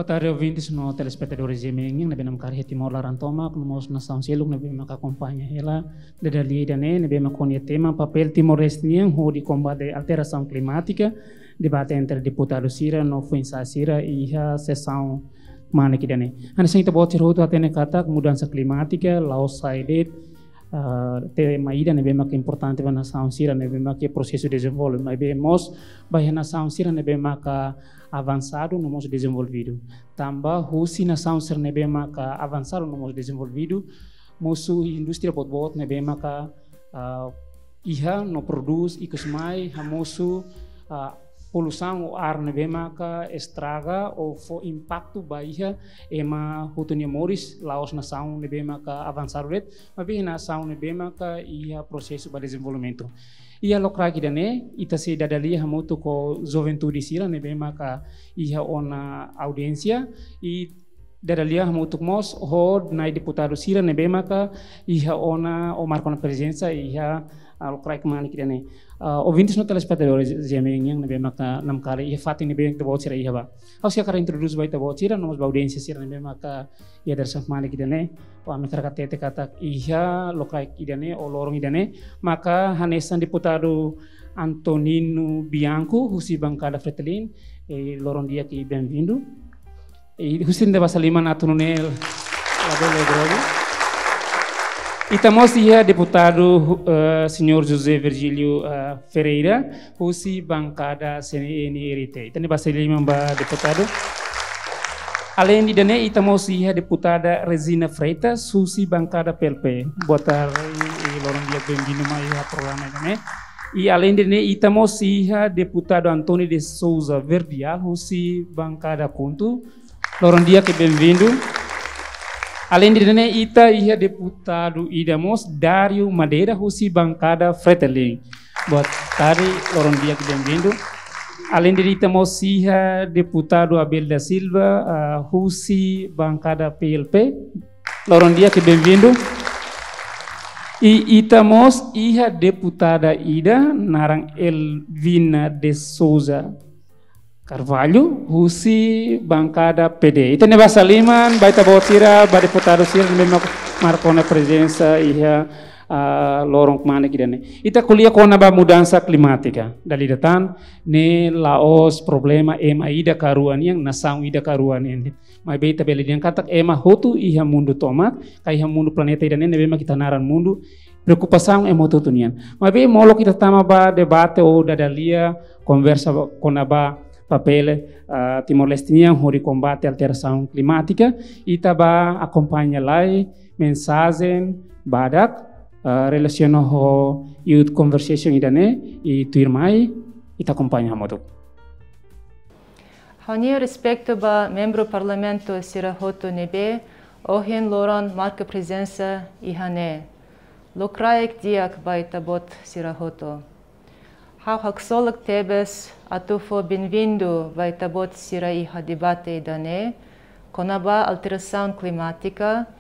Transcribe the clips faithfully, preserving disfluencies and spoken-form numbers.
Tarde ouvintes no telespetadores G M N nian ne'ebé namkari iha Timor laran tomak, no mós nasaun seluk ne'ebé maka akompaña hela dada lia ida-ne'e, ne'ebé maka ho nia tema papél Timor-Leste nian hodi kombate alterasaun klimátika, debate entre deputadu sira no foin-sa'e sira iha sesaun kmanek ida-ne'e. Hanesan ita-boot sira hotu hatene katak mudansa klimátika la'ós sai de'it, ah, tema ida ne'ebé maka importante ba nasaun sira ne'ebé maka prosesu dezenvolve, maibé mós ba iha nasaun sira ne'ebé maka avansadu no mós dezenvolvidu. Tanba husi nasaun sira ne'ebé maka avansadu no mós dezenvolvidu, mosu indústria boot-boot ne'ebé maka, ah, iha no prodús, ikus mai hamosu, ah, poluisaun ou ar ne'ebé maka estraga ou fó impaktu ba iha ema hotu nia moris, la'ós nasaun ne'ebé maka avansadu de'it, maibé nasaun ne'ebé maka iha prosesu ba dezenvolvimentu. Iha lokraik ida-ne'e, ita sei dada lia hamutuk ho juventude sira ne'ebé maka iha ona audiénsia, i dada lia hamutuk mós ho nai deputadu sira ne'ebé maka iha ona ou marka ona prezensa iha, ah, lokraik kmanek ida-ne'e. Ah, ouvintes no telespetadores G M N nian ne'ebé maka namkari iha fatin ne'ebé ita-boot sira iha ba. Ha'u sei hakarak introdús ba ita-boot sira no mós ba audiénsia sira ne'ebé maka iha dadeer-saan kmanek ida-ne'e. Ha'u hakarak hatete katak iha lokraik ida-ne'e ou loron ida-ne'e maka hanesan deputadu Antonino Bianco husi bankada Fretilin, eh, loron di'ak i benvindu. I husi ita-nia basa liman atu nune'e labele grogu. Ita mós iha deputadu, eh, señór José Virgílio, eh, Ferreira, husi bankada C N R T. Ita-nia basa liman ba deputadu. Aleinde ida-ne'e, ita mós iha deputada Regina Freitas, husi bankada P L P. Boa tarde, i loron di'ak, benvindu mai iha programa ida-ne'e. I aleinde ida-ne'e, ita mós iha deputadu António de Sousa Verdial, husi bankada KHUNTO. Loron di'ak i benvindu. Aleinde ida-ne'e, ita iha deputadu ida mós, Dário Madeira, husi bankada Fretilin. Boa tarde, loron di'ak i benvindu. Aleinde ida-ne'e, ita mós iha deputadu Abel da Silva, ah, husi bankada P L P. Loron di'ak i benvindu. I ita mós iha deputada ida naran Elvina de Sousa Carvalho, husi bankada P D. Ita-nia basa liman ba ita-boot sira, ba deputadu sira ne'ebé mak-, marka ona prezensa iha, ah, loron kmanek ida-ne'e. Ita ko'alia kona-ba mudansa klimátika. Dala ida tan, ne'e la'ós problema ema ida ka rua nian, nasaun ida ka rua nian. Maibé ita bele dehan katak ema hotu iha mundu tomak, ka iha mundu planeta ida-ne'e ne'ebé mak ita naran mundu, preokupasaun ema hotu-hotu nian. Maibé molok ita tama ba debate ou dada lia, konversa ba, kona-ba papél, ah, Timor-Leste nian hodi kombate alterasaun klimátika, ita bá akompaña lai mensajen badak, ah, relasiona ho Youth Conversation ida-ne'e, i tuirmai ita akompaña hamutuk. Ha'u-nia respeitu ba membru Parlamentu sira hotu ne'ebé ohin loron marka prezensa iha ne'e. Lokraik di'ak ba ita-boot sira hotu. Ha'u haksolok tebes atu fó benvindu ba ita-boot sira iha debate ida-ne'e kona-ba alterasaun klimátika.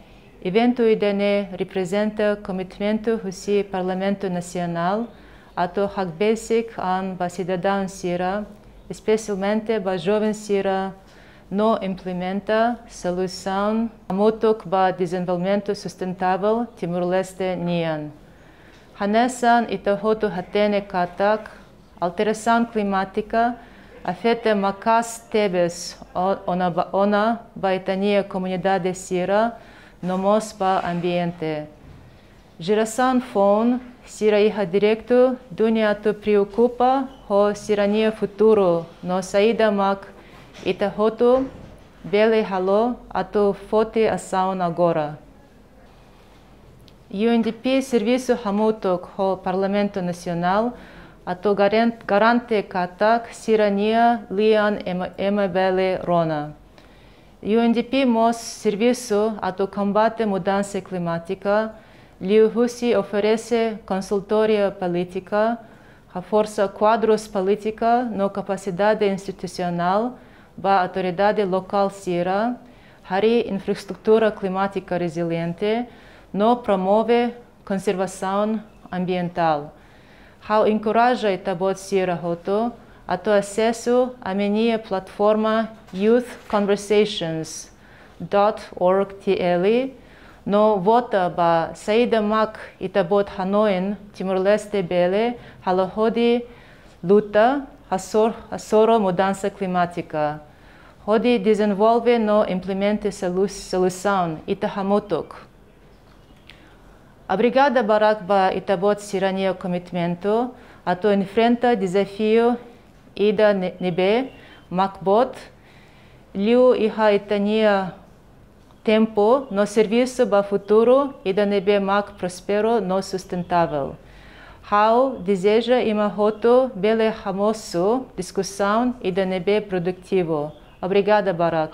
Eventu ida-ne'e reprezenta komitmentu husi Parlamentu Nasionál atu hakbesik an ba sidadaun sira, espesialmente ba joven sira, no implementa solusaun hamutuk ba dezenvolvimentu sustentável Timor-Leste nian. Hanesan ita hotu hatene katak alterasaun klimátika afeta maka'as tebes o-, ona ba, ona ba ita-nia komunidade sira, no mós ba ambiente. Jerasaun foun sira iha direitu duni atu preokupa ho sira-nia futuru no saida mak ita hotu bele halo atu foti asaun agora. U N D P servisu hamutuk ho Parlamentu Nasionál atu garen-, garante katak sira-nia lian ema, ema bele rona. U N D P mós servisu atu kombate mudansa klimátika, liuhusi oferese konsultoria polítika, haforsa kuadrus polítika no kapasidade institusionál ba autoridade lokál sira, harii infraestrutura klimátika reziliente, no promove konservasaun ambientál. Ha'u enkoraja ita-boot sira hotu Atu asesu ami-nia plataforma youth conversations dot org T L no vota ba saida mak ita-boot hanoin Timor-Leste bele halo hodi luta hasoru, hasoru mudansa klimátika, hodi dezenvolve no implementa solu-, solusaun ita hamutuk. Obrigada barak ba ita-boot sira-nia komitmentu atu enfrenta dezafiu ida ne-, ne'ebé mak boot, liu iha ita-nia tempu no servisu ba futuru ida ne'ebé mak prósperu no sustentável. Ha'u dezeja imi hotu bele hamosu diskusaun ida ne'ebé produtivu. Obrigada barak.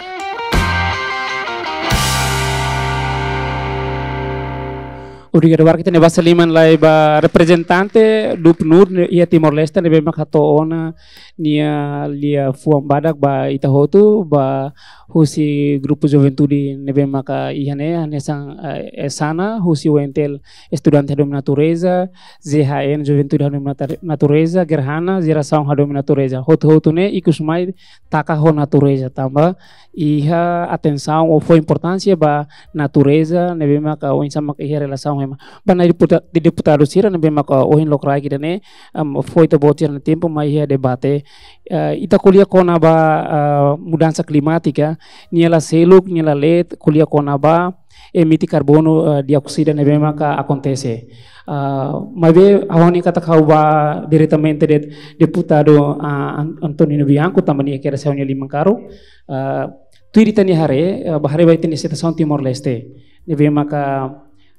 Obrigadu barak. Ita-nia basa liman lai ba reprezentante do PNUD iha Timor-Leste ne'ebé mak hato'o ona nia liafuan badak ba ita hotu, ba husi grupu juventude ne'ebé maka iha ne'e, hanesan, eh, Esana, husi U N T L Estudante Hadomi Natureza, Z H N Juventude Hadomi Natu-, Natureza, Gerhana, Jerasaun Hadomi Natureza. Hotu-hotu ne'e ikus mai taka ho natureza tanba iha atensaun ou fó importánsia ba natureza ne'ebé maka oinsá maka iha relasaun ema. Ba nai deputa-, deputadu sira ne'ebé maka ohin lokraik ida-ne'e, am, fó ita-boot sira-nia tempu mai iha debate. Eh, ita ko'alia kona-ba, eh, mudansa klimátika, nia la seluk, nia la leet, ko'alia kona-ba emite karbonu, eh, dioksida ne'ebé maka akontese. Ah, maibé ha'u hanoin katak ha'u bá diretamente de'it deputadu, ah, An-, Antonino Bianco, tanba nia kedas ha'u-nia liman karuk. Ah, tuir ita-nia haree, ah, bá haree ba ita-nia situasaun Timor-Leste. Ne'ebé maka,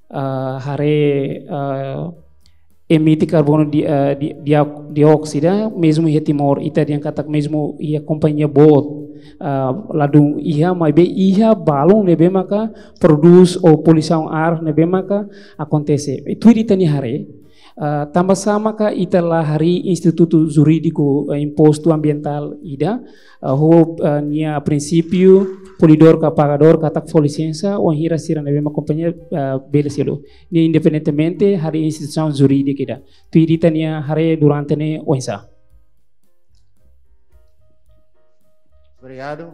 ah, haree, ah, emite karbonu di, ah, di, di, dioksida, mezmu iha Timor, ita dehan katak mezmu iha kompañia boot, ah, ladún iha, maibé iha balun ne'ebé maka prodús ou poluisaun ar ne'ebé maka akontese. I tuir ita-nia haree, ah, tanbasá maka ita la harii institutu jurídiku, eh, impostu ambientál ida, ah, ho, ah, nia prinsípiu polidór ka pagadór katak fó lisensa, wainhira sira ne'ebé mak kompañia, ah, bele selu. Nia independentemente harii instituisaun jurídika ida. Tuir ita-nia haree durante ne'e oinsá? Obrigadu.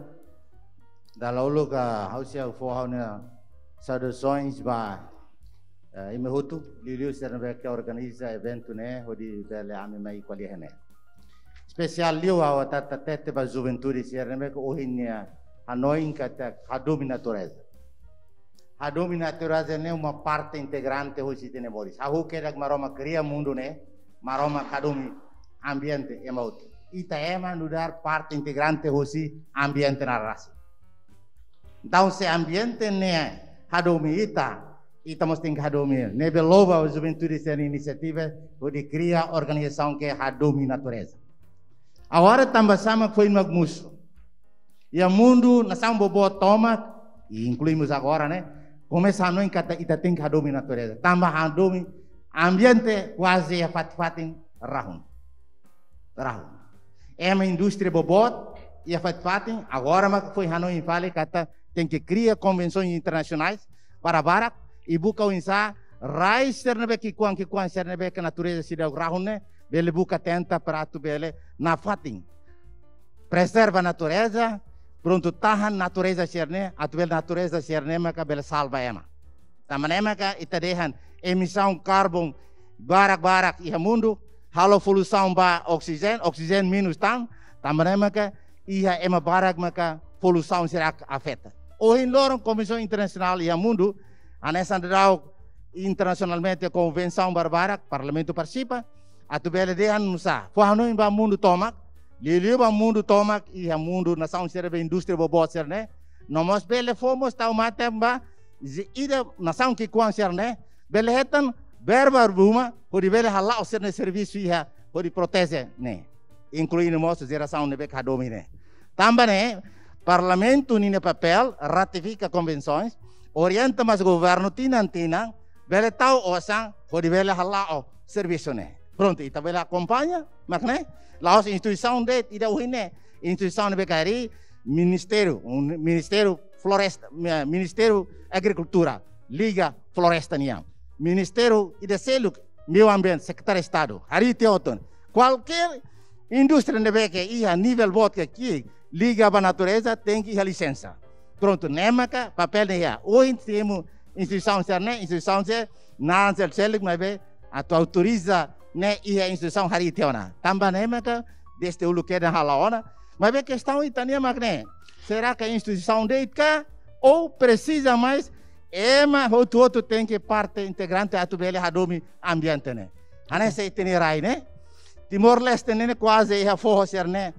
Dala uluk, ah, ha'u sei fó ha'u-nia saudasoens ba, eh, imi hotu, liuliu sira ne'ebé ke organiza eventu ne'e, hodi bele ami mai ko'alia iha ne'e. Espesiál liu ha'u hatete ba juventude sira ne'ebé ke ohin nia hanoin katak hadomi natureza. Hadomi natureza ne'e uma parte integrante husi ita-nia moris. Hahú kedas Maromak kria mundu ne'e, Maromak hadomi ambiente, ema hotu. Ita ema nu'udar parte integrante husi ambiente nia rasik. Entaun se ambiente ne'e hadomi ita, ita mós tenke hadomi. Ne'ebé loba juventude sira-nia inisiativa hodi kria organizasaun ke hadomi natureza. Agora tanbasá mak foin mak mosu. Iha mundu nasaun boboot tomak, i inklui mós agora ne'e, komesa hanoin katak ita tenke hadomi natureza. Tanba hadomi ambiente kuaze iha fatin-fatin rahun. Rahun. Ema indústria boboot iha fatin-fatin, agora mak foin hanoin fali katak tenke kria konvensaun internasionais para barak, i buka oinsá rai sira ne'ebé ki'ikoan, ki'ikoan sira ne'ebé ke natureza seidauk rahun ne'e, bele buka tenta para atu bele nafatin prezerva natureza, prontu tahan natureza sira-ne'e, atu bele natureza sira-ne'e maka bele salva ema. Tanba ne'e maka ita dehan emisaun karbon barak-barak iha mundu, halo poluisaun ba oksijéniu, oksijéniu menus tan, tanba ne'e maka iha ema barak maka poluisaun sira afeta. Ohin loron konvensaun internasionál iha mundu, hanesan daudaun internasionalmente konvensaun barak-barak, Parlamentu partisipa, atu bele dehan nusá, fó hanoin ba mundu tomak, liuliu ba mundu tomak, iha mundu nasaun sira be indústria boboot sira-ne'e, no mós bele fó mós tau matan ba, zi-, ida nasaun ki'ikoan sira-ne'e, bele hetan verba ruma, hodi bele hala'o sira-nia servisu iha, hodi proteje ne'e. Inklui mós jerasaun ne'ebé ke hadomi ne'e. Tanba ne'e, Parlamentu ninia papél, ratifika konvensoens, orienta mós governu tinan-tinan, bele tau osan, hodi bele hala'o servisu ne'e. Prontu, ita bele akompaña, mak ne'e, la'ós instituisaun de'it ida ohin ne'e, instituisaun ne'ebé ke harii, ministériu, un-, ministériu floresta, mi-, ministériu agrikultura, liga floresta nian. Ministériu ida seluk, meiu ambiente, sekretáriu Estadu, harii tiha hotu. Kualkér indústria ne'ebé ke iha nivel boot ke ki'ik liga ba natureza, tenke iha lisensa. Prontu, ne'e maka papél ne'e iha. Ohin temos instituisaun sira-ne'e, instituisaun sira naran seluk-seluk, maibé atu autoriza ne'e iha instituisaun harii tiha ona. Tanba ne'e maka dezde uluk kedan halo ona. Maibé kestaun ita-nian mak ne'e. Será ke instituisaun de'it ka? Ou presiza mais ema hotu-hotu tenke parte integrante atu bele hadomi ambiente ne'e? Hanesan ita-nia rai ne'e, Timor-Leste ne'e kuaze iha foho sira-ne'e,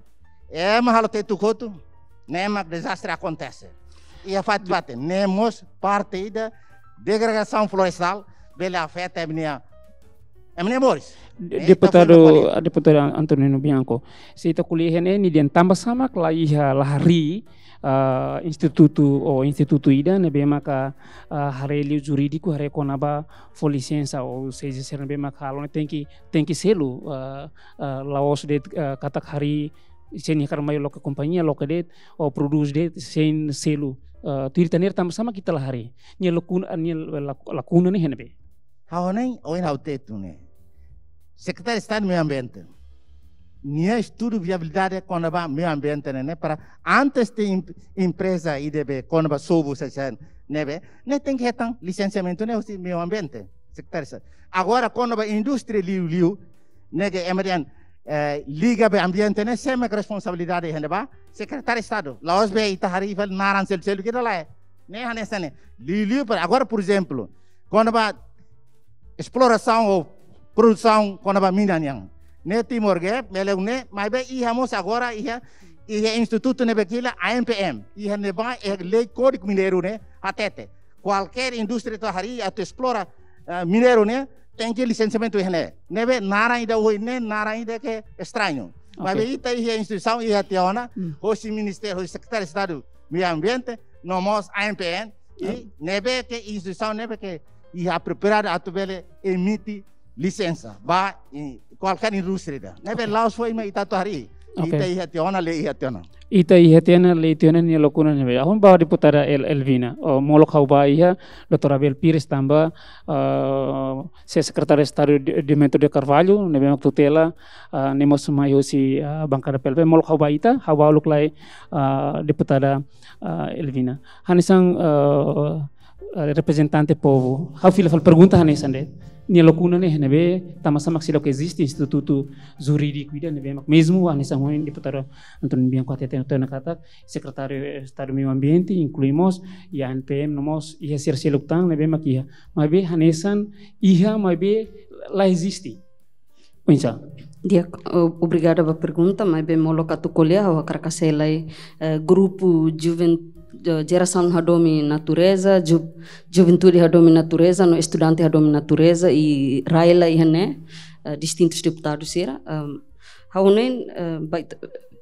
ema halo tetuk hotu, ne'e mak dezastre akontese. Iha fatin-fatin, ne'e mós parte ida degradasaun florestál bele afeta ema-nia, ema-nia moris. De-, ne'e ita deputadu, foin ita ko'alia. Deputadu Antonino Bianco, se ita ko'alia iha ne'e, nia dehan tanba sá mak la iha, la harii, ah, institutu ou institutu ida ne'ebé maka, ah, haree liu jurídiku, haree kona-ba fó lisensa, ou seja, sira ne'ebé maka halo ne'e tenke, tenke selu, ah, ah, la'ós de'it, ah, katak harii, se nia hakarak mai loke kompañia, loke de'it, ou prodús de'it, sein selu. Ah, tuir ita-nia haree tanba sá mak ita la harii? Nia lakuna, nia la-, lakuna ne'e iha ne'ebé? Ha'u hanoin, ohin ha'u hatete ne'e. Sekretáriu Estadu Meiu Ambiente, nia estudu viabilidade kona-ba meiu ambiente ne'e, ne'e para antes de em-, empreza ida be kona-ba sobu sasán ne'ebé, ne'e tenke hetan lisensiamentu ne'e husi Meiu Ambiente, Sekretáriu Estadu. Agora kona-ba indústria liuliu, ne'e ke ema dehan, eh, liga ba ambiente ne'e, sé mak responsabilidade iha ne'ebá? Sekretáriu Estadu. La'ós be ita harii fali naran seluk-seluk ida, lae. Ne'e hanesan ne'e. Liuliu para agora, por ezemplu, kona-ba esplorasaun ou produsaun kona-ba mina nian. Ne'e Timor Gap, belun ne'e, maibé iha mós agora iha, iha institutu ne'ebé ke hila A M P M. Iha ne'ebá iha lei Kódigu Mineiru ne'e hatete. Kualkér indústria atu harii atu esplora, eh, mineiru ne'e, tenke lisensiamentu iha ne'e. Ne'ebé naran ida ohin ne'e, naran ida ke estrañu. Oke. Maibé ita iha instituisaun iha tiha ona, Hmm. hosi Ministériu, hosi Sekretáriu Estadu Meiu Ambiente, no mós A M P M, i Ah. ne'ebé ke instituisaun ne'ebé ke iha apropriadu atu bele emite lisensa ba i-, kualkér indústria ida. Ne'ebé Oke. la'ós foin mak ita atu harii. Oke. Ita iha tiha ona, lei iha tiha ona. Ita iha tiha ona, lei tiha ona, nia lakuna ne'ebé. Ha'u ba deputada El-, Elvina. Oh, molok ha'u ba iha, doutór Abel Pires tanba, ah, se Sekretáriu Estadu Di-, Diomento de Carvalho, ne'ebé mak tutela, ah, ne'e mós mai hosi, ah, bankada P L P, molok ha'u ba ita, ha'u ba uluk lai, ah, deputada, ah, Elvina. Hanesan, ah, ah, reprezentante povu. Ha'u fila fali pergunta hanesan de'it. Nia lakuna ne'e, ne'ebé, tanba sá mak seidauk eziste institutu jurídiku ida ne'ebé mak mezmu, hanesan ohin deputadu Antonino Bianco hatete tiha ona katak, Sekretáriu Estadu Meiu Ambiente, inklui mós, iha A M P M no mós, iha sira seluk tan, ne'ebé mak iha. Maibé hanesan iha, maibé la eziste. Oinsá? Di'ak, o-, obrigada ba pergunta, maibé molok atu ko'alia, ha'u hakarak hasai lai, eh, grupu juven-, eh, jerasaun hadomi natureza, ju-, juventude hadomi natureza, no estudante hadomi natureza, i rai la iha ne'e, eh, distintus deputadu sira. Ehm, ha'u hanoin, eh, ba ita,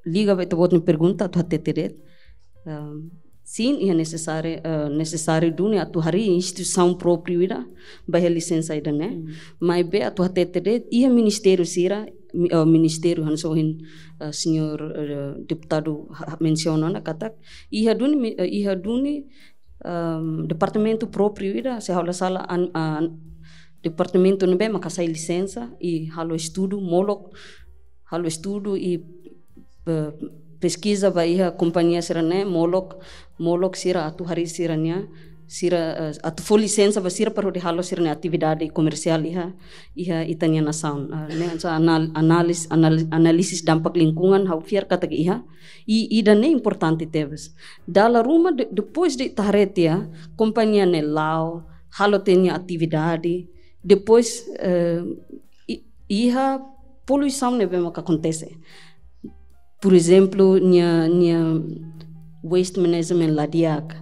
liga ba ita-boot nia pergunta, atu hatete de'it. Ehm, sin, iha nesesáriu, eh, nesesáriu duni atu harii instituisaun própriu ida ba iha lisensa ida-ne'e. Hmm. Maibé atu hatete de'it, iha ministériu sira, mi-, eh, ministériu hanesan ohin, eh, señór, eh, deputadu ha-, ha-, mensiona ona katak, iha duni mi-, eh, iha duni, ehm, departamentu própriu ida, se ha'u la sala an-, an-, departamentu ne'ebé mak hasai lisensa, i halo estudu, molok, halo estudu, i eh, peskiza ba iha kompañia sira-ne'e, molok, molok sira atu harii sira-nia, sira, eh, atu fó lisensa ba sira para hodi halo sira-nia atividade komersiál iha, iha ita-nia nasaun. Eh, ne'e hanesan anal-, analis-, anal-, análisis dampak lingkungan, ha'u fiar katak iha, i, ida-ne'e importante tebes. Dala ruma de-, depois de ita haree tiha, kompañia ne'e la'o, halo tiha nia atividade, depois, eh, i-, iha poluisaun ne'ebé maka akontese. Por ezemplu, nia, nia waste management la di'ak,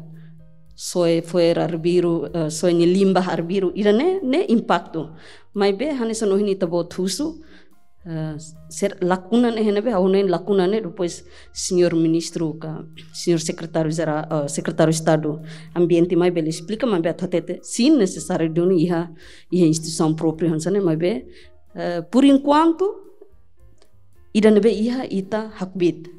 soe fo'er arbiru, eh, soe nia limbah arbiru, ida-ne'e, ne'e impaktu. Maibé, hanesan ohin ita-boot husu, eh, sira lakuna ne'e iha ne'ebé, ha'u hanoin lakuna ne'e, depois señór ministru ka, señór sekretáriu jerál, eh, sekretáriu Estadu Ambiente mai bele esplika, maibé atu hatete, sin, nesesáriu duni iha, iha instituisaun própriu hanesan ne'e, maibé, eh, por enquanto, ida ne'ebé iha ita hakbiit.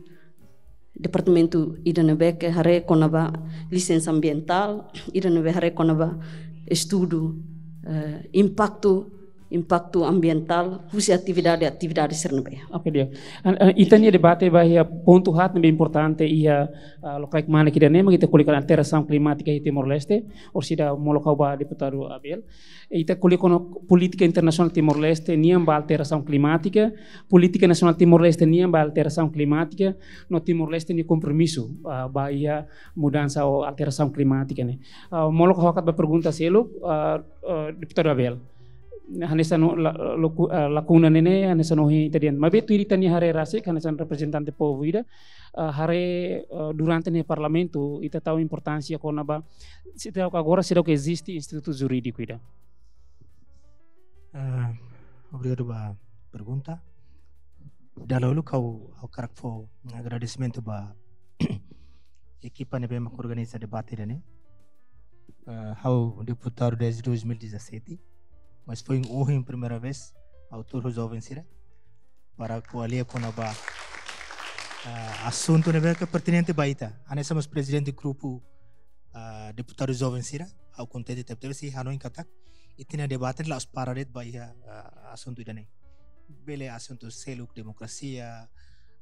Departamentu ida ne'ebé ke haree kona-ba lisensa ambientál, ida ne'ebé haree kona-ba estudu, eh, impaktu impaktu ambientál husi atividade-atividade sira ne'ebé. Oke, di'ak. An-, eh, ita-nia debate ba iha pontu haat ne'ebé importante iha, ah, lokaik-manik ida-ne'e, mak ita ko'alia kona-ba alterasaun klimátika iha Timor-Leste, orsida molok ha'u ba deputadu Abel. Ita ko'alia kona-ba polítika internasionál Timor-Leste nian ba alterasaun klimátika, polítika nasionál Timor-Leste nian ba alterasaun klimátika, no Timor-Leste nia kompromisu, ah, ba iha mudansa ou alterasaun klimátika ne'e. Ah, molok ha'u hakat ba pergunta seluk, ah, ah, deputadu Abel. Hanesan no la-, laku-, ah, lakuna ne'e ne'e, hanesan ohin ita dehan. Maibé tuir ita-nia haree rasik, hanesan reprezentante povu ida, ah, haree, ah, durante ne'e Parlamentu, ita tau importánsia kona-ba, seidauk agora, seidauk eziste institutu jurídiku ida. Ah, obrigadu ba pergunta. Dala uluk ha'u, ha'u hakarak fó agradesimentu ba ekipa ne'ebé mak organiza debate ida-ne'e. Ah, ha'u deputadu desde dois mil e dezassete, mas foin ohin primeira vez ha'u tuur ho joven sira para ko'alia kona-ba, ah, asuntu ne'ebé ke pertinente ba ita. Hanesan mós prezidente grupu, ah, deputadu joven sira, ha'u kontente tebetebes, hanoin katak ita-nia debate la'ós para de'it ba iha, ah, asuntu ida-ne'e. Bele asuntu seluk, demokrasia,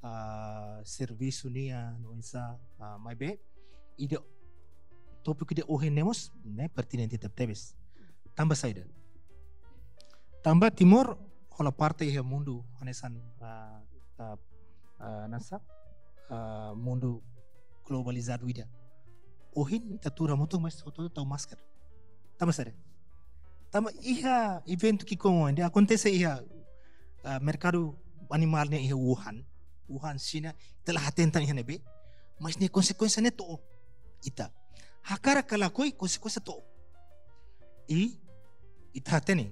ah, servisu nian, no insa, ah, maibé ida, tópiku ida ohin ne'e mós ne'e pertinente tebetebes. Tanba saida? Tanba Timor hola parte iha mundu hanesan, ah, ah, ah, nasa, ah, mundu globalizadu ida. Ohin ita tuur hamutuk, mas hotu-hotu tau masker. Tanba saida? Tanba iha eventu ki'ikoan ne'e akontese iha, ah, merkadu animál ne'e iha Wuhan, Wuhan, Xina, ita la hatene tan iha ne'ebé, mas nia konsekuénsia ne'e to'o ita. Hakarak ka lakohi, konsekuénsia to'o. I ita hatene,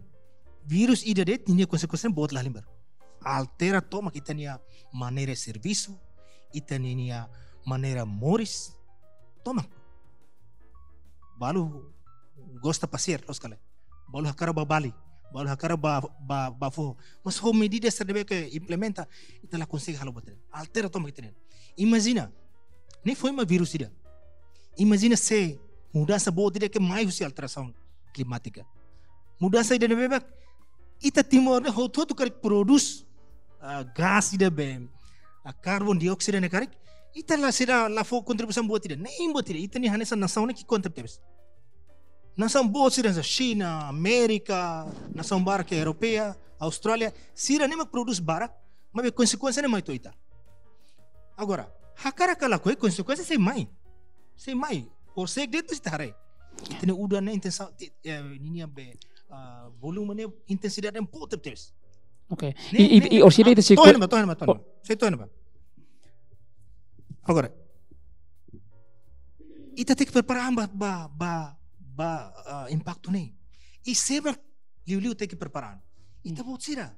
vírus ida de'it nia konsekuénsia boot lahalimar. Altera tomak ita-nia maneira servisu, ita-nia maneira moris. Tomak. Balu gosta pasiar, loos ka lae. Balu hakarak bá Bali, balu hakarak bá, bá, bá foho. Mas ho medida sira ne'ebé ke implementa, ita la konsege halo buat ida. Altera tomak ita-nia. Imajina, ne'e foin mak vírus ida. Imajina se mudansa boot ida ke mai husi alterasaun klimátika. Mudansa ida ne'ebé mak ita Timor ne'e hotu-hotu karik prodús, ah, gás ida be, ah, karbon dioksidu ne'e karik, ita la, sira la fó kontribuisaun boot ida. Nein boot ida. Ita-nia hanesan nasaun ne'e ki'ikoan tebetebes. Nasaun boot sira, Xina, Amérika, nasaun barak ke Europeia, Austrália, sira ne'e mak prodús barak, maibé konsekuénsia ne'e mai to'o ita. Agora, hakarak ka lakohi, konsekuénsia sei mai. Sei mai. Horiseik de'it ita haree. Ita-nia udan ne'e intensa-, ti-, eh, ninia be, ah, volume ne'e, intensidade ne'e boot tebetebes. Oke. Ne'e, I, i, ne'e, i, orsida ah, ita sei to'o ko- iha ne'ebá, to'o iha ne'ebá, to'o iha ne'ebá. Bom. Sei to'o iha ne'ebá. Agora, ita tenke prepara an ba, ba, ba, ba, ah, impaktu ne'e. I sé mak liuliu tenke prepara an? Ita, hmm, boot sira.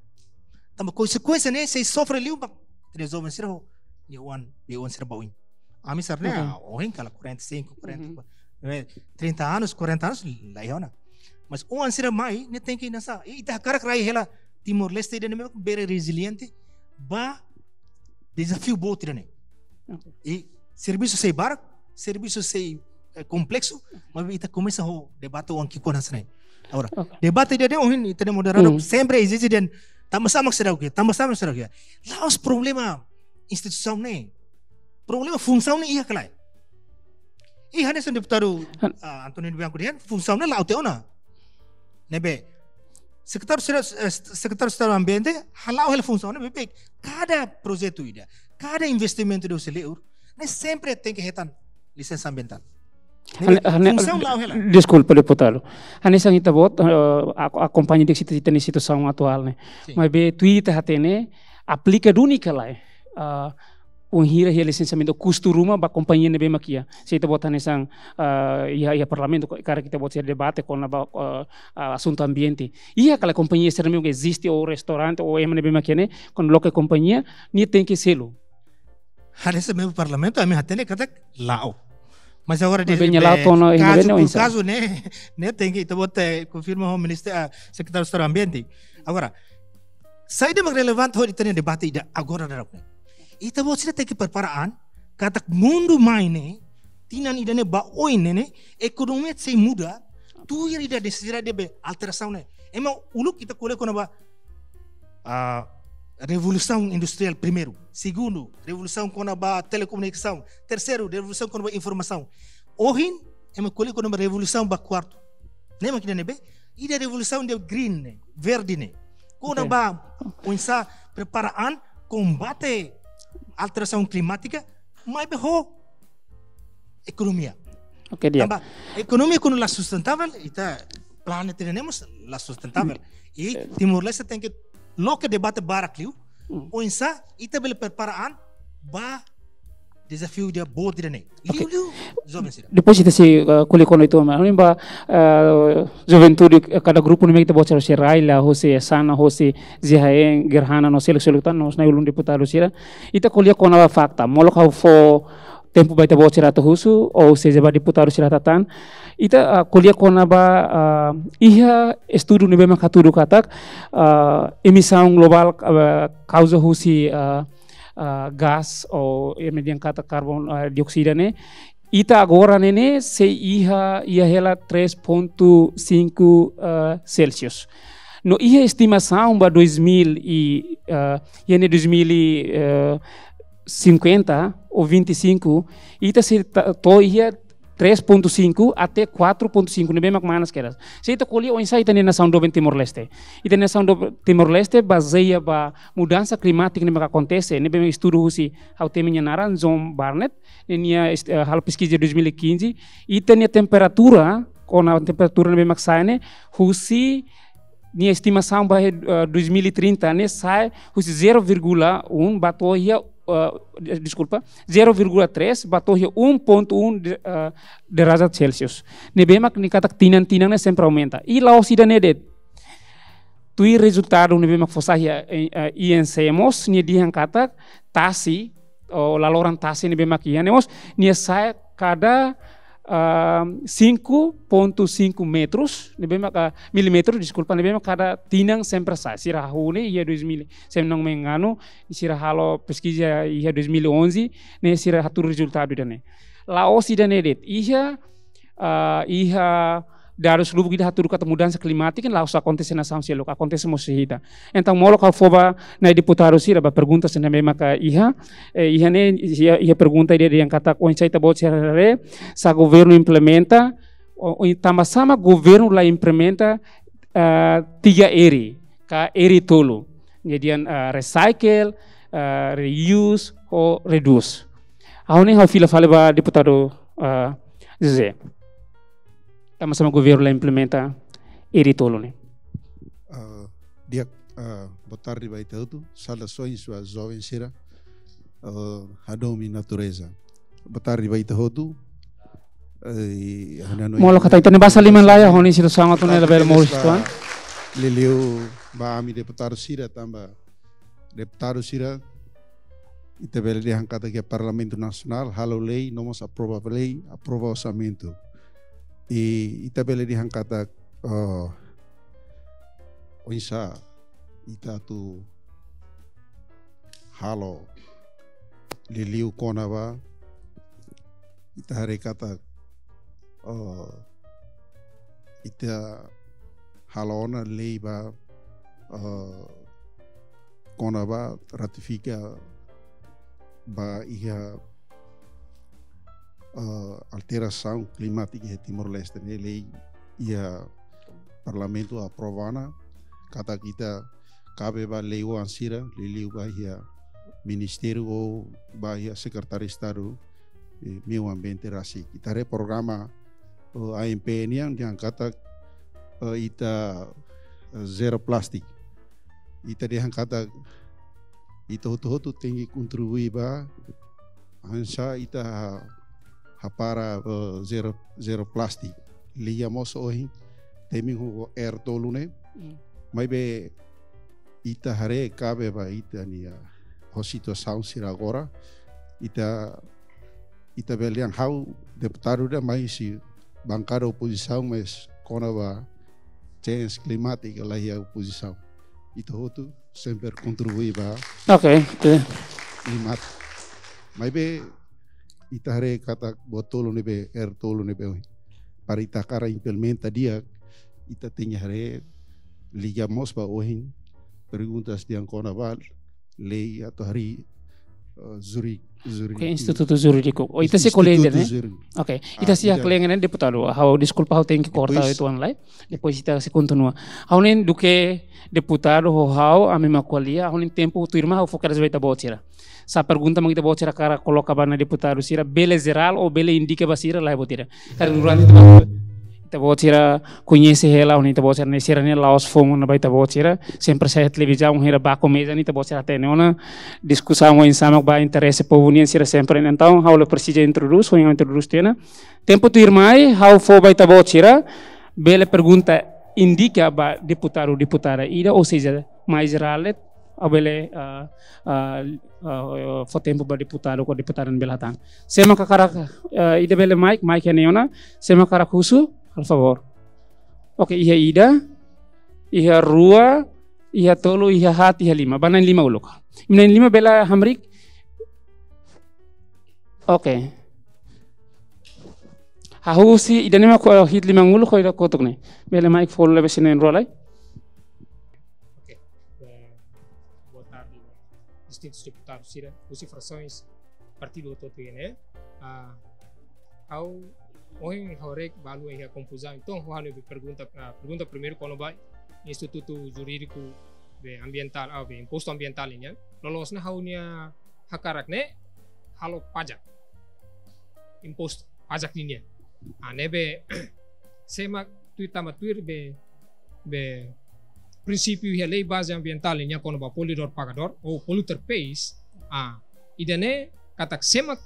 Tanba konsekuénsia ne'e sei sofre liu mak ita-nia joven sira ho nia oan, nia oan sira ba oin. Ami sira ne'e, oke, ah, ohin kala quarenta e cinco, quarenta, uhum, eh, trinta anos, quarenta anos, la iha ona. Mas oan sira mai, ne'e tenke nasa, i ita hakarak rai hela Timor-Leste ida ne'ebé bele reziliente ba dezafiu boot ida-ne'e. Oke. I servisu sei barak, servisu sei, eh, kompleksu, mas ita komesa ho debate oan ki'ikoan hanesan ne'e. Agora, oke, debate ida-ne'e ohin, ita-nia moderadór, hmm, sempre ezije dehan, tanba sá mak seidauk iha, tanba sá mak seidauk iha. La'ós problema instituisaun ne'e. Problema funsaun ne'e iha ka lae. I hanesan deputadu, han- ah, António Bianco dehan, funsaun ne'e la'o tiha ona. Ne'ebé, Sekretáriu Estadu, eh, Sekretáriu Estadu Ambiente hala'o hela funsaun ne'e, maibé kada projetu ida, kada investimentu ida husi liur, ne'e sempre tenke hetan lisensa ambientál. Ne'ebé, hane-, hane-, funsaun la'o hela. Deskulpa, deputadu. Hanesan ita-boot, eh, ak-, akompaña di'ak ita-nia situasaun atuál ne'e. Sin. Maibé tuir ita hatene, aplika duni ka lae, eh, bainhira iha lisensiamentu, kustu ruma ba kompañia ne'ebé mak iha. Se ita-boot hanesan, eh, iha, iha Parlamentu, ko-, karik ita-boot sei debate kona-ba, eh, eh, asuntu ambiente. Iha ka lae kompañia sira ne'ebé eziste, ou restaurante, ou ema ne'ebé mak iha ne'e, kuandu loke kompañia, nia tenke selu. Hanesan membru Parlamentu, ami hatene katak la'o. Mas agora, maibé de, nia la'o to'o ona, iha ne'ebé kazu ne'e por oinsá? Kazu ne'e, ne'e tenke ita-boot, eh, konfirma ho Ministériu, ah, Sekretáriu Estadu Ambiente. Agora, saida mak relevante hodi ita-nia debate ida agora daudaun ne'e? Ita-boot sira tenke prepara an, katak mundu mai ne'e, tinan ida-ne'e ba oin ne'e, ne'e, ekonomia sei muda, tuir ida nesesidade be alterasaun ne'e. Ema uluk ita ko'alia kona-ba, ah, revolusaun industriál primeiru, segundu, revolusaun kona-ba telekomunikasaun, terseiru, revolusaun kona-ba informasaun. Ohin, ema ko'alia kona-ba revolusaun ba kuartu. Ne'e mak ida-ne'ebé, ida revolusaun ida green ne'e, verde ne'e. Kona-ba, oinsá prepara an, kombate alterasaun klimátika, maibé ho ekonomia. Oke, di'ak. Tanba ekonomia kuandu la sustentável, ita planeta ida-ne'e mós la sustentável. I Timor-Leste tenke loke debate barak liu, oinsá ita bele prepara an ba dezafiu ida boot ida-ne'e. Oke. Liuliu joven sira. Depois ita sei, eh, ko'alia kona-ba ida, maun, ba, eh, juventude, eh, kada grupu ne'ebé ita-boot sira rai, la hosi Sana, hosi Zihaen, Gerhana, no seluk-seluk tan, no nai ulun deputadu sira. Ita ko'alia kona-ba fakta, molok ha'u fó tempu ba ita-boot sira atu husu, ou seja ba deputadu sira tan. Ita, ah, ko'alia kona-ba, ah, iha estudu ne'ebé mak hatudu katak, ah, emisaun globál, ah, kauza husi, ah, ah, gás ou ema dehan katak karbon, ah, dioksida ne'e. Ita agora ne'e, ne'e sei iha, iha hela três ponto cinco, ah, Celsius. No iha estimasaun ba dois mil e, ah, iha ne'e dois mil e, eh, cinquenta ou vinte e cinco, ita sei ta-, to'o iha três ponto cinco até quatro ponto cinco, ne'ebé mak manas kedas. Se ita ko'alia oinsá ita-nia nasaun doben Timor-Leste. Ita-nia nasaun doben Timor-Leste bazeia ba mudansa klimátika ne'ebé mak akontese, ne'ebé mak estudu husi ha'u temi nia naran John Barnett, ne'e nia est-, eh, halo peskiza dois mil e quinze, ita-nia temperatura, kona temperatura ne'ebé mak sa'e ne'e, husi nia estimasaun ba, eh, dois mil e trinta ne'e sa'e husi zero vírgula um ba to'o iha, eh, deskulpa, zero vírgula três ba to'o iha um ponto um de, eh, derajat Celsius. Ne'ebé mak nia katak tinan-tinan ne'e sempre aumenta. I la'ós ida-ne'e de'it. Tuir rezultadu ne'ebé mak fó sai iha, eh, eh, I N C mós, nia dehan katak tasi, ou laloran tasi ne'ebé mak iha ne'e mós, nia sa'e kada, ah, cinco ponto cinco metros, ne'ebé mak, ah, milímetru, deskulpa, ne'ebé mak kada tinan sempre sa'e. Sira hahú ne'e iha dois mil, se não me engano, sira halo peskiza iha dois mil e onze, ne'e sira hatudu rezultadu ida-ne'e. La'ós ida-ne'e de'it. Iha, ah, iha dadus lubuk ida hatudu katak mudansa klimátika la'ós akontese nasaun seluk, akontese mós iha ita. Entaun, molok ha'u fó ba nai deputadu sira ba pergunta sira ne'ebé maka iha, eh, iha ne'e, iha, iha pergunta ida dehan katak oinsá ita-boot sira haree, se governu implementa, ou, ou tanba sá mak governu la implementa, ah, tiga R, ka R tolu. Ne'e dehan, ah, recycle, ah, reuse, ou reduce. Ha'u ne'e ha'u fila fali ba deputadu, ah, José. Tanba sá mak governu la implementa R tolu ne'e. Ah, di'ak, ah, boa tarde ba ita hotu. Saudasoens ba joven sira. Ah, hadomi natureza. Boa tarde ba ita hotu. Eh, ha'u hanoin molok katak ita-nia basa liman la iha, ha'u hanoin situasaun atu nune'e labele moris ba tuan. Liuliu ba ami deputadu sira tanba deputadu sira, ita bele dehan katak iha Parlamentu Nasionál halo lei, no mós aprova lei, aprova orsamentu. I ita bele dehan katak, eh, oinsá ita atu halo liuliu kona-ba, ita haree katak, eh, ita halo ona lei ba, eh, kona-ba ratifika ba iha, eh, alterasaun klimátika iha Timor-Leste ne'e, lei iha Parlamentu aprova ona, katak ita kabe ba lei-oan sira, liuliu ba iha ministériu ou ba iha Sekretáriu Estadu, eh, Meiu Ambiente rasik. Ita haree programa, eh, A M P nian dehan katak, eh, ita, eh, zero plastik. Ita dehan katak ita hotu-hotu tenke kontribui ba hanesan ita ha-, hapara, eh, zero, zero plastik. Liga mós ohin temi ho R tolu ne'e. Mm. Maibé ita haree kabe ba ita-nia, ah, ho situasaun sira agora. Ita, ita bele dehan ha'u deputadu ida, mas husi bankada opozisaun, mas kona-ba change klimátika la iha opozisaun. Ita hotu sempre kontribui ba, oke, oke, klimátika. Maibé ita haree katak buat tolu ne'ebé, R tolu ne'ebé, para ita hakarak implementa di'ak, ita tenke haree liga mós ba ohin perguntas dehan kona-ba lei atu harii, eh, juri-, juri-, Oke, institutu jurídiku. Oh, ita sei ko'alia Institutu ida-ne'e? Jurídiku. Oke, ita Ah, sei ida. ko'alia ne'e, deputadu. Ha'u, deskulpa, ha'u tenke korta Depois uitoan lai. Depois ita sei kontinua. Ha'u-nia duké deputadu ho ha'u, ami mak ko'alia, ha'u-nia tempu tuirmai ha'u fó kedas ba ita-boot sira. Se pergunta mak ita-boot sira hakarak koloka ba ona deputadu sira, bele jerál ou bele indika ba sira, lae, buat ida. Karik durante ita-boot sira koñese hela, ou ita-boot sira ne'e, sira-nia la'ós foun ona ba ita-boot sira, sempre sai televizaun, hira ba komeza, ita-boot sira hatene ona, diskusaun oinsá mak ba interese povu nian, sira sempre. Entaun, ha'u la presiza introdús, ha'u introdús tiha ona. Tempu tuirmai, ha'u fó ba ita-boot sira, bele pergunta indika ba deputadu, deputada ida, ou seja, mais jerál de'it, ha'u bele, ah, ah, ah, fó tempu ba deputadu ka deputada bele hatán. Sé mak hakarak, ah, ida bele mic, mic iha ne'e ona. Sé mak hakarak husu, halo favór. Oke, iha ida, iha rua, iha tolu, iha haat, iha lima. Ba na'in-lima uluk. Na'in-lima bele hamriik. Oke. Hahú husi ida-ne'e mak ho hi'it liman uluk ho ida kotuk ne'e. Bele mic fó lebe sira na'in-rua lai. Oke. Eh, boa tarde, distintus deputadus sira, husi frasoens partidu hotu-hotu ne'e. Ah, ha'u, ohin ha'u haree balu iha konfuzaun. Entaun, ha'u hanoin pergunta, ah, pergunta primeiru kona-ba institutu jurídiku be ambientál, ah, be impostu ambientál nian. Loloos ne'e ha'u-nia hakarak ne'e halo pajak. Impostu, pajak nian. Ah, ne'ebé, sé mak tuir, tanba tuir be, be prinsípiu iha lei baze ambientál nian kona-ba poluidór pagadór ou polluter pays. Ah, ida-ne'e katak sé mak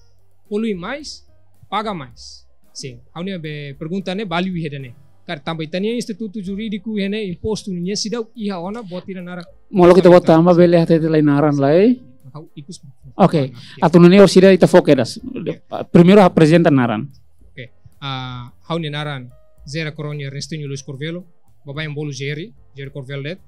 polui mais, paga mais. Sin, ha'u-nia be pergunta ne'e balu iha ida-ne'e. Karik tanba ita-nia institutu jurídiku iha ne'e, impostu nian seidauk iha ona buat ida naran. Molok ita-boot tanba bele hatete lai naran lai. Ha'u ikus. Oke. Oke. Atu nune'e orsida ita fó kedas. Oke. Primeiru aprezenta naran. Oke. Ah, ha'u-nia naran José Coronha Ernestinho Luis Corvelo. Baibain bolu Jerry, Jerry Corvelo de'it.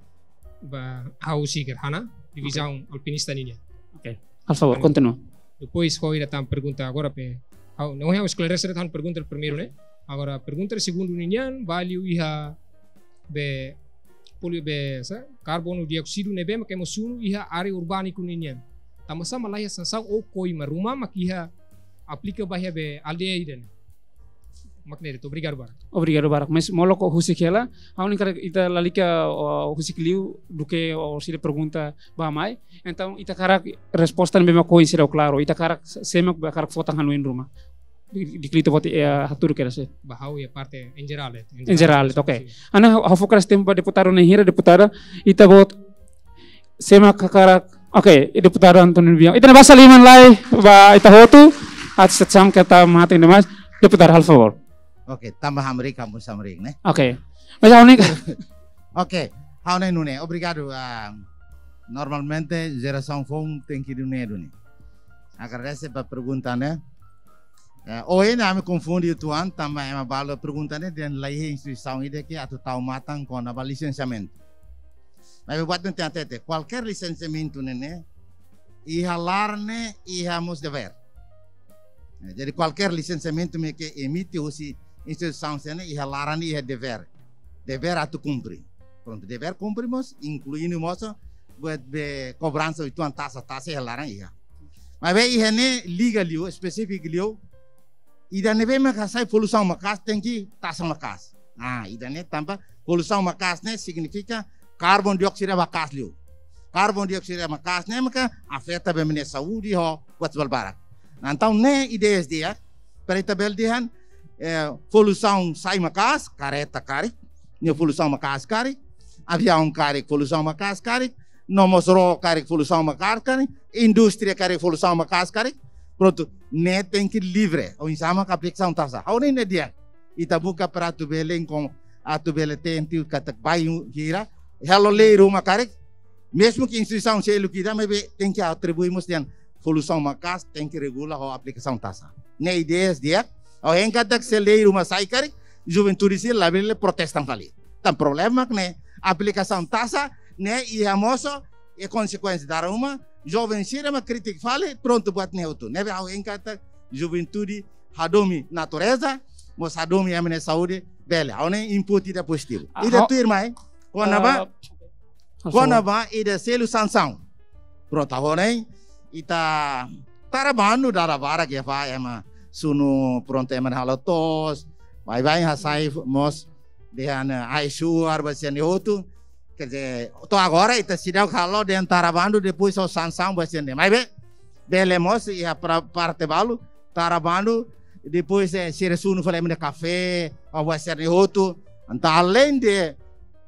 Ba, ha'u husi Gerhana, divizaun alpinista nian. Oke. Halo favór, kontinua. Depois, ha'u ida tan pergunta agora pe, ha'u, no, ha'u esklarese tan pergunta primeiru ne'e. Agora, pergunta segundu nian, balu iha be polu be, sá, karbonu dioksidu ne'ebé mak ema sunu iha área urbániku nian. Tanba sá mak laiha sansaun ou koima ruma mak iha aplika ba iha be aldeia ida-ne'e. Mak ne'e de'it, obrigadu barak. Obrigadu barak. Mas molok husik hela, ha'u hanoin karik ita lalika, oh, husik liu duké orsida pergunta ba mai. Entaun ita hakarak resposta ne'ebé mak oinsá klaru. Ita hakarak sé mak hakarak fó tan hanoin ruma. Di, di klito bote, eh, hatudu kedas. Ba ha'u iha parte en jerál, eh, en jerál, oke. Sin. Ha'u fó kedas tempu ba deputadu na'in hira, deputada, ita-boot sé mak hakarak, oke, deputadu António Bianco. Ita-nia basa liman lai ba ita hotu, atu setsam keta mate ida mais. Deputadu, halo favór. Oke, tanba hamriik, kamu hamriik, ne'e? Oke. Mas ha'u hanoin. Oke, ha'u hanoin nune'e. Obrigadu. Ah, normalmente jerasaun foun tenke nune'e duni. Agradese ba pergunta ne'e. Eh, ohin ami konfunde uitoan, tanba ema balu pergunta ne'e dehan laiha instituisaun ida ke atu tau matan kona-ba lisensiamentu. Mas buat ne'e tenke hatete, kualkér lisensiamentu ne'e, ne'e, iha laran ne'e, iha mós devér. Eh, jadi kualkér lisensiamentu mak emite husi instituisaun sira ne'e, iha laran ne'e, iha devér. Devér atu kumpre. Prontu, devér kumpre mós, inkluindo mós buat be kobransa uitoan taxa, taxa iha laran iha. Maibé iha ne'e liga liu, espesífiku liu, ida ne'ebé mak hasai poluisaun maka'as tenke taxa maka'as. Ah, ida-ne'e tanba poluisaun maka'as ne'e signifika karbon dioksidu maka'as liu. Karbon dioksidu maka'as ne'e maka afeta ba ema nia saúde ho buat balbarak. Nah, entaun ne'e ideias di'ak, para ita bele dehan, eh, poluisaun sai maka'as, kareta karik, nia poluisaun maka'as karik, aviaun karik, poluisaun maka'as karik, no mós ró karik, poluisaun maka'as karik, indústria karik, poluisaun maka'as karik. Prontu, ne'e tenke livre, oinsá mak aplikasaun taxa. Ha'u hanoin ne'e di'ak. Ita buka para atu bele, enkom, atu bele tenke katak bai hira, halo lei ruma karik, mezmu ke instituisaun seluk ida, maibé tenke atribui mós dehan poluisaun maka'as, tenke regula ho aplikasaun taxa. Ne'e ideias di'ak, ha'u hein katak se lei ruma sai karik, juventude sira labele protesta fali. Tan problema mak ne'e, aplikasaun taxa ne'e iha mós e konsekuénsia dala ruma, joven sira mak kritika fali, prontu buat ne'e hotu. Ne'ebé ha'u hein katak juventude hadomi natureza, mós hadomi ema nia saúde, bele. Ha'u hanoin input ida pozitivu. Ah, ida ho- tuirmai, Kona-ba, ah, kona-ba ida selu sansaun. Prontu, agora, hein? Ita tara bandu dala barak iha fatin ema sunu, prontu, ema halo to'os, baibain hasai mós dehan, eh, ai-suar ba sira-ne'e hotu. Quer dizer, to'o agora ita seidauk halo dehan tara bandu, depois ho sansaun ba sira-ne'e. Maibé bele mós iha pra-, parte balu, tara bandu, depois, eh, sira sunu fali ema nia kafé, ou ba sira-ne'e hotu. Entaun, além de,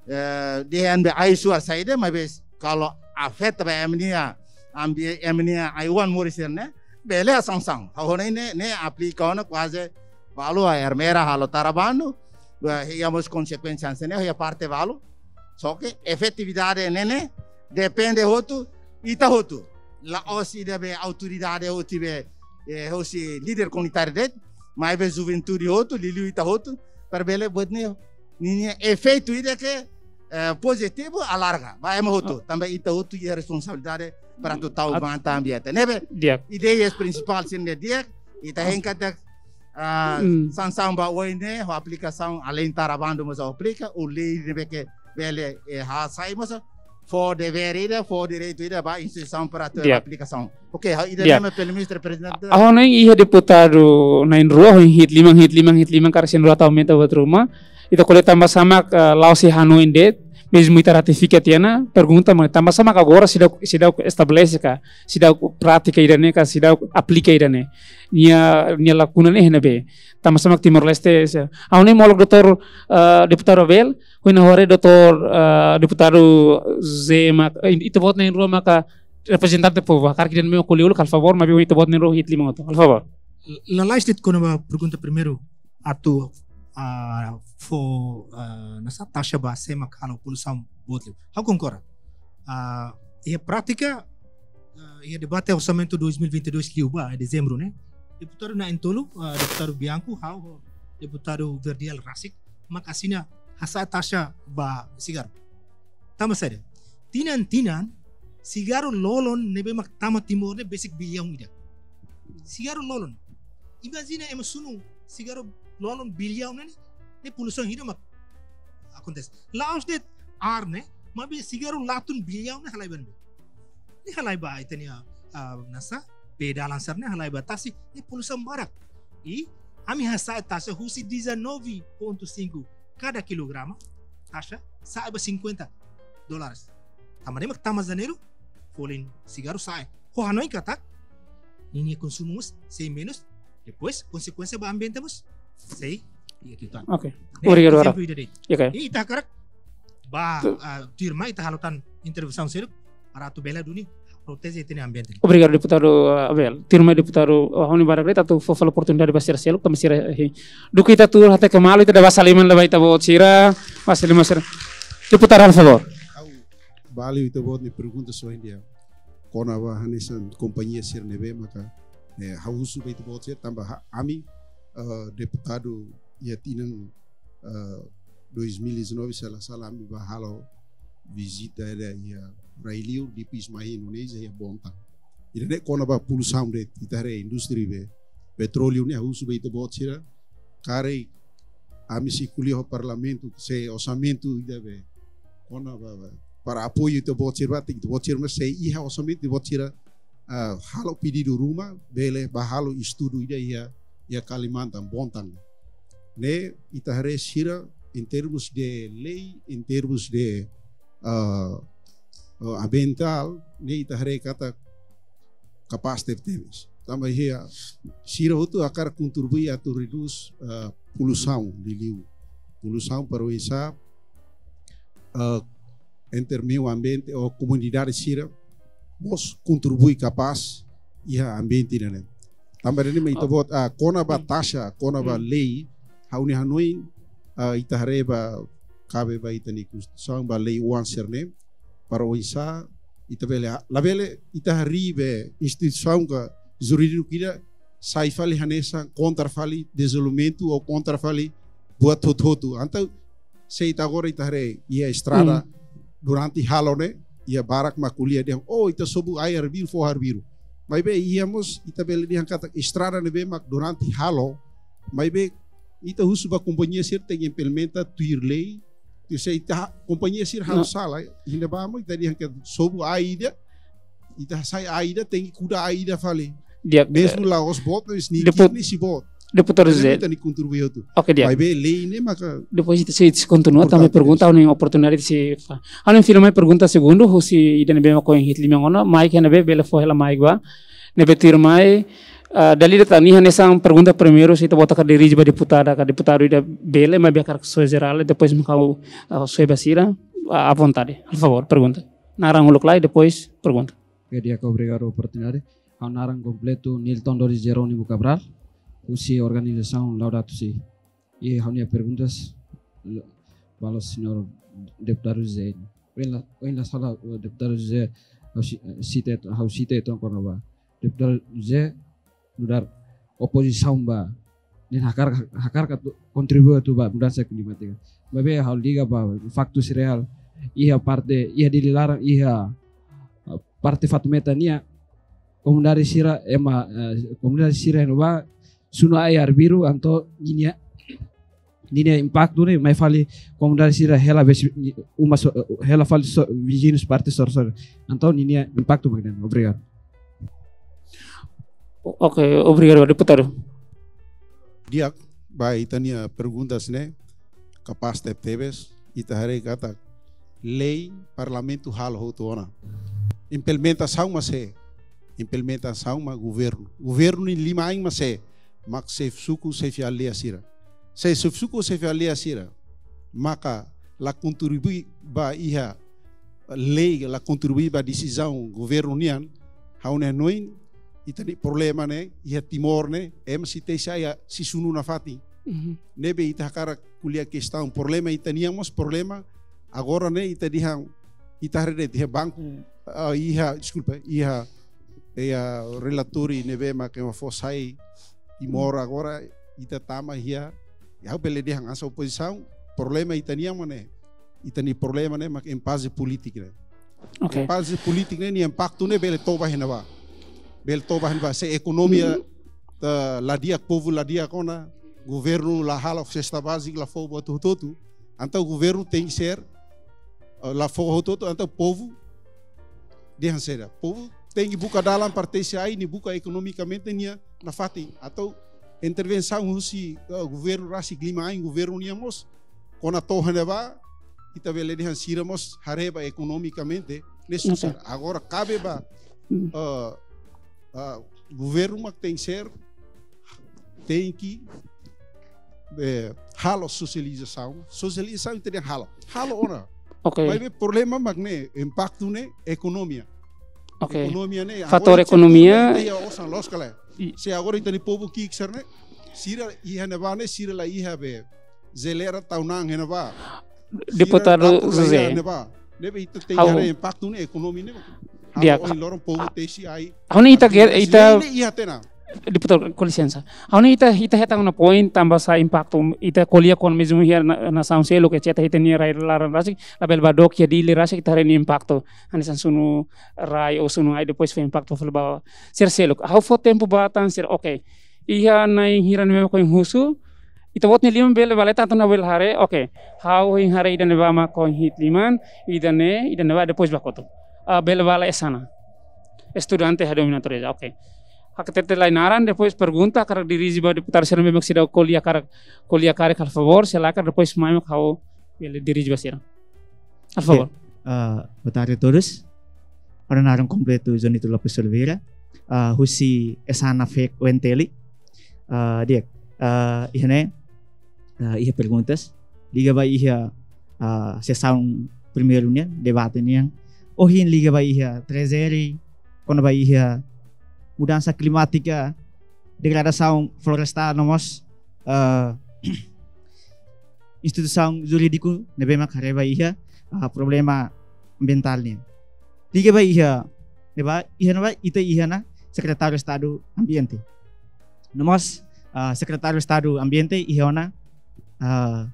eh, dehan be ai-suar saida, maibé kalau afeta ba ema nia ambi-, ema nia ai-oan moris sira-ne'e, bele sansaun. Ha'u hanoin ne'e, ne'e aplika ona kuaze balu, a Ermera halo tara bandu, ba, iha mós konsekuénsia hanesan ne'e iha parte balu. Só ke efetividade ne'e, ne'e depende hotu, ita hotu. La'ós ida be autoridade hotu be, eh, hosi líder komunitáriu de'it, maibé juventude hotu, liuliu ita hotu, para bele buat ne'e, ninia efeitu ida ke, eh, pozitivu alarga ba ema hotu. Ah. Tanba ita hotu iha responsabilidade para atu tau, at-, matan ambiente. Ne'ebé, di'ak, ideias prinsipál sira-ne'e di'ak, ita, ah, hein katak, ah, hmm, sansaun ba oin ne'e, ho aplikasaun além tara bandu mós aplika, ou lei ne'ebé ke bele, eh, hasai mós, fó devér ida, fó direitu ida ba instituisaun para atu, di'ak, aplikasaun. Oke, ha'u ida, di'ak, ne'e mak pelo menos reprezenta. Ha'u hanoin iha deputadu na'in-rua, ho hi'it liman, hi'it liman, hi'it liman, karik sira na'in-rua tau aumenta buat ruma. Ita ko'alia tanba sá mak, eh, la'ós iha hanoin de'it, mezmu ita ratifika tiha ona, pergunta mak tanba sá mak agora seidauk, seidauk estabelese ka, seidauk pratika ida-ne'e ka, seidauk aplika ida-ne'e. Nia, nia lakuna ne'e iha ne'ebé. Tanba sá mak Timor-Leste, se, ha'u hanoin molok doutór, eh, deputadu Abel, ho nia hore doutór, eh, deputadu José mak, eh, ita-boot na'in-rua maka reprezentante povu, karik ida-ne'e mak ko'alia uluk, halo favór, maibé ita-boot na'in-rua hi'it liman hotu. Halo favór. Lalais de'it kona-ba pergunta primeiru, atu, ah, fó, ah, hanesan taxa ba sé mak halo poluisaun boot liu. Ha'u konkorda. Ah, iha prátika, ah, iha debate orsamentu dois mil e vinte e dois liubá, iha dezembru ne'e. Deputadu na'in-tolu, ah, deputadu Bianco, ha'u ho deputadu Verdial rasik, mak asina hasa'e taxa ba sigarru. Tanba saida? Tinan-tinan, sigarru lolon ne'ebé mak tama Timor ne'e besik biliaun ida. Sigarru lolon. Imajina ema sunu sigarru lolon biliaun ne'e, ne'e poluisaun hira mak akontese. La'ós de'it ar ne'e, maibé sigarru latun biliaun ne'e halai ba ne'ebé? Ne'e halai ba ita-nia, ah, hanesan, bee dalan sira-ne'e, halai ba tasi, ne'e poluisaun barak. I ami hasa'e taxa husi dezanove ponto cinco kada kilograma, taxa sa'e ba cinquenta dólares. Tanba ne'e mak tama Janeiru, folin sigarru sa'e. Ha'u hanoin katak, ninia konsumu mós sei menus, depois konsekuénsia ba ambiente mós sei, iha kitan. Oke. Ne'e, obrigadu, ezemplu ida de'it. Oke. I ita hakarak ba, ah, tuirmai ita halo tan intervensaun seluk, para atu bele duni proteje ita-nia ambiente. Obrigadu, deputadu, ah, Abel. Tuirmai deputadu, ah, ha'u hanoin barak de'it atu fó fali oportunidade ba sira seluk, tanba sira, eh, duké ita tuur hateke malu, ita dada basa liman ba ita-boot sira, basa liman sira. Deputadu, halo favór. Ha'u, ba liu ita-boot nia pergunta só ida. Kona-ba hanesan kompañia sira ne'ebé maka, eh, ha'u husu ba ita-boot sira tanba ha-, ami, eh, deputadu iha tinan, eh, dois mil e dezanove, se la sala, ami bá halo vizita ida iha rai-liur, depois mai Indonézia, iha Bontang. Ida-ne'e kona-ba poluisaun de'it, ita haree indústria be petróleu ne'e, ha'u husu ba ita-boot sira, karik ami sei ko'alia ho parlamentu, se orsamentu ida be kona-ba, ba, para apoiu ita-boot sira, ita-boot sira mós sei iha orsamentu, ita-boot sira, ah, halo pedidu ruma, bele bá halo estudu ida iha, iha Kalimantan, Bontang. Ne'e ita haree sira, em termos de lei, em termos de, ah, ah, ambientál, ne'e ita haree katak kapás tebetebes. Tanba iha, sira hotu hakarak kontribui atu redús, ah, poluisaun, liuliu poluisaun para oinsá, ah, entre meiu ambiente ou komunidade sira mós kontribui kapás iha ambiente ne'e. Tanba ne'e mak ita-boot, ah, kona-ba taxa, kona-ba lei, ha'u-nia hanoin, ah, ita haree ba, kabe ba ita-nia Konstituisaun, ba lei oan sira-ne'e, para oinsá ita bele, labele ita harii be instituisaun ka jurídiku ida sai fali hanesan kontra fali dezenvolvimentu ou kontra fali buat hotu-hotu. Entaun, se ita agora ita haree iha estrada durante halo ne'e, iha barak mak ko'alia dehan, oh, ita sobu ai arbiru, foho arbiru. Maibé iha mós ita bele dehan katak estrada ne'ebé mak durante halo, maibé ita husu ba kompañia sira tenke implementa tuir lei, Ita sei, ita, kompañia sira halo sala, ita bá mós ita dehan katak sobu ai ida, ita hasai ai ida, tenke kuda ai ida fali. Di'ak, mezmu la'ós boot, mas nia ki'ik ne'e sei boot. Deputadu José. Ita tenke kontribui hotu. Oke, di'ak. Maibé lei ne'e maka. Depois ita sei kontinua, importante, também pergunta, ha'u-nia oportunidade sei, ha'u-nia fila mai pergunta segundu, husi ida ne'ebé mak ohin hi'it liman ona, maik iha ne'ebé, bele fó hela maik ba. Ne'ebé tuirmai, ah, dala ida tan, nia hanesan pergunta primeiru, se ita-boot hakarak dirije ba deputada, ka deputadu ida bele, maibé hakarak só jerál, depois mak ha'u, ah, só ba sira, ah, à vontade. Por favor, pergunta. Naran uluk lai, depois pergunta. Oke, di'ak, obrigadu oportunidade. Ha'u naran kompletu Nilton Doris Jerónimo Cabral, husi organizasaun Laudato Si. I ha'u-nia perguntas, l-, ba señór deputadu José. Ohin la, ohin la sala, eh, deputadu José, ha'u si-, eh, sita, ha'u sita uitoan kona-ba deputadu José nu'udar opozisaun ba, nia hakarak, hakarak atu kontribui atu ba mudansa klimátika. Maibé ha'u liga ba faktus reál, iha parte, iha Dili laran, iha, eh, parte Fatumeta nian, komunidade sira ema, eh, komunidade sira iha ne'ebá sunu ai arbiru, entaun ninia, ninia impaktu ne'e mai fali komunidade sira hela besi uma so-, hela fali so-, viziñus parte sorin-sorin. Entaun ninia impaktu mak ne'e. Obrigadu. O-, oke, obrigadu, deputadu. Di'ak, ba ita-nia perguntas ne'e, kapás tebetebes, ita haree katak lei Parlamentu halo hotu ona. Implementasaun mak sé, implementasaun mak governu. Governu nia liman-ain mak sé, mak xefe suku, xefe aldeia sira. Se xefe suku, xefe aldeia sira maka la kontribui ba iha lei, la kontribui ba desizaun governu nian, ha'u-nia hanoin, ita-nia problema ne'e iha Timor ne'e, ema sei tesi ai, sei sunu nafatin. Mhm. Ne'ebé ita hakarak ko'alia kestaun problema ita-nian mós problema. Agora ne'e ita dehan, ita haree de'it iha banku, ah, iha, deskulpa, iha, iha relatóriu ne'ebé mak ema fó sai Timor agora, ita tama iha, ha'u bele dehan hanesan opozisaun, problema ita-nian mak ne'e. Ita-nia problema ne'e mak impaze polítika ne'e. Oke. Impaze polítika ne'e, nia impaktu ne'e bele toba iha ne'ebá. Bele toba iha ne'ebá. Se ekonomia, hmm, la di'ak, povu la di'ak ona, governu la halo sesta bázika, la fó buat hotu-hotu. Entaun governu tenke ser, eh, la fó hotu-hotu, entaun povu dehan saida. Povu tenke buka dalan para tesi ai, nia buka ekonomikamente nia nafatin. Entaun intervensaun husi, eh, governu rasik liman-ain, governu nian mós, kona to'o iha ne'ebá, ita bele dehan sira mós haree ba ekonomikamente, ne'e, oke, susar. Agora kabe ba, hmm, eh, eh, governu mak tenke ser, tenke, eh, halo sosializasaun. Sosializasaun ita dehan halo. Halo ona. Oke. Maibé problema mak ne'e, impaktu ne'e ekonomia. Oke. Ekonomia ne'e, fatór ekonomia. Agora ita iha osan loos ka lae. I- Se agora ita-nia povu ki'ik sira ne'e, sira iha ne'ebá ne'e, sira la iha be jeleira tau na'an iha ne'ebá. Sira deputadu dapur la iha José. Ne'ebá. Ne'ebé ita tenke, ha'u, haree impaktu ne'e ekonomia ne'e. Di'ak. Ha'u ohin loron povu tesi ai. Ha'u-nia ita, artinya ita, ita, ne'e iha tiha ona. Deputadu, com licença. Ha'u-nia ita, ita hetan ona poin tanba sá impaktu, ita ko'alia kona-ba mezmu iha na-, nasaun seluk, et cetera, ita-nia rai laran rasik, labele ba dook iha Dili rasik, ita haree nia impaktu. Hanesan sunu rai ou sunu ai, depois fó impaktu fali ba sira seluk. Ha'u fó tempu ba tan sira, oke. Iha na'in hira ne'ebé mak ohin husu, ita-boot nia liman bele ba leten atu nune'e bele haree, oke. Ha'u ohin haree ida ne'ebá mak ohin hi'it liman, ida-ne'e, ida ne'ebá depois ba kotuk. Ah, bele ba Esana. Estudante iha dominatória, oke. Hakarak hatete lai naran, depois pergunta, hakarak dirije ba deputadu sira ne'ebé mak seidauk ko'alia karik, ko'alia karik halo favór, se lae karik depois mai mak ha'u bele dirije ba sira. Halo favór. Oke, ah, boa tarde a todos. Ha'u-nia naran kompletu Jonito Lopes Oliveira, ah, husi Esana Fek U N T L. Ah, di'ak, ah, iha ne'e, ah, iha perguntas liga ba iha, ah, sesaun primeiru nian, debate nian. Ohin liga ba iha trezeri, kona-ba iha mudansa klimátika, degradasaun florestál no mós, ah, instituisaun jurídiku ne'ebé mak haree ba iha, ah, problema ambientál nian. Liga ba iha ne'ebá, iha ne'ebá ita iha ona Sekretáriu Estadu Ambiente. No mós, ah, Sekretáriu Estadu Ambiente iha ona, ah,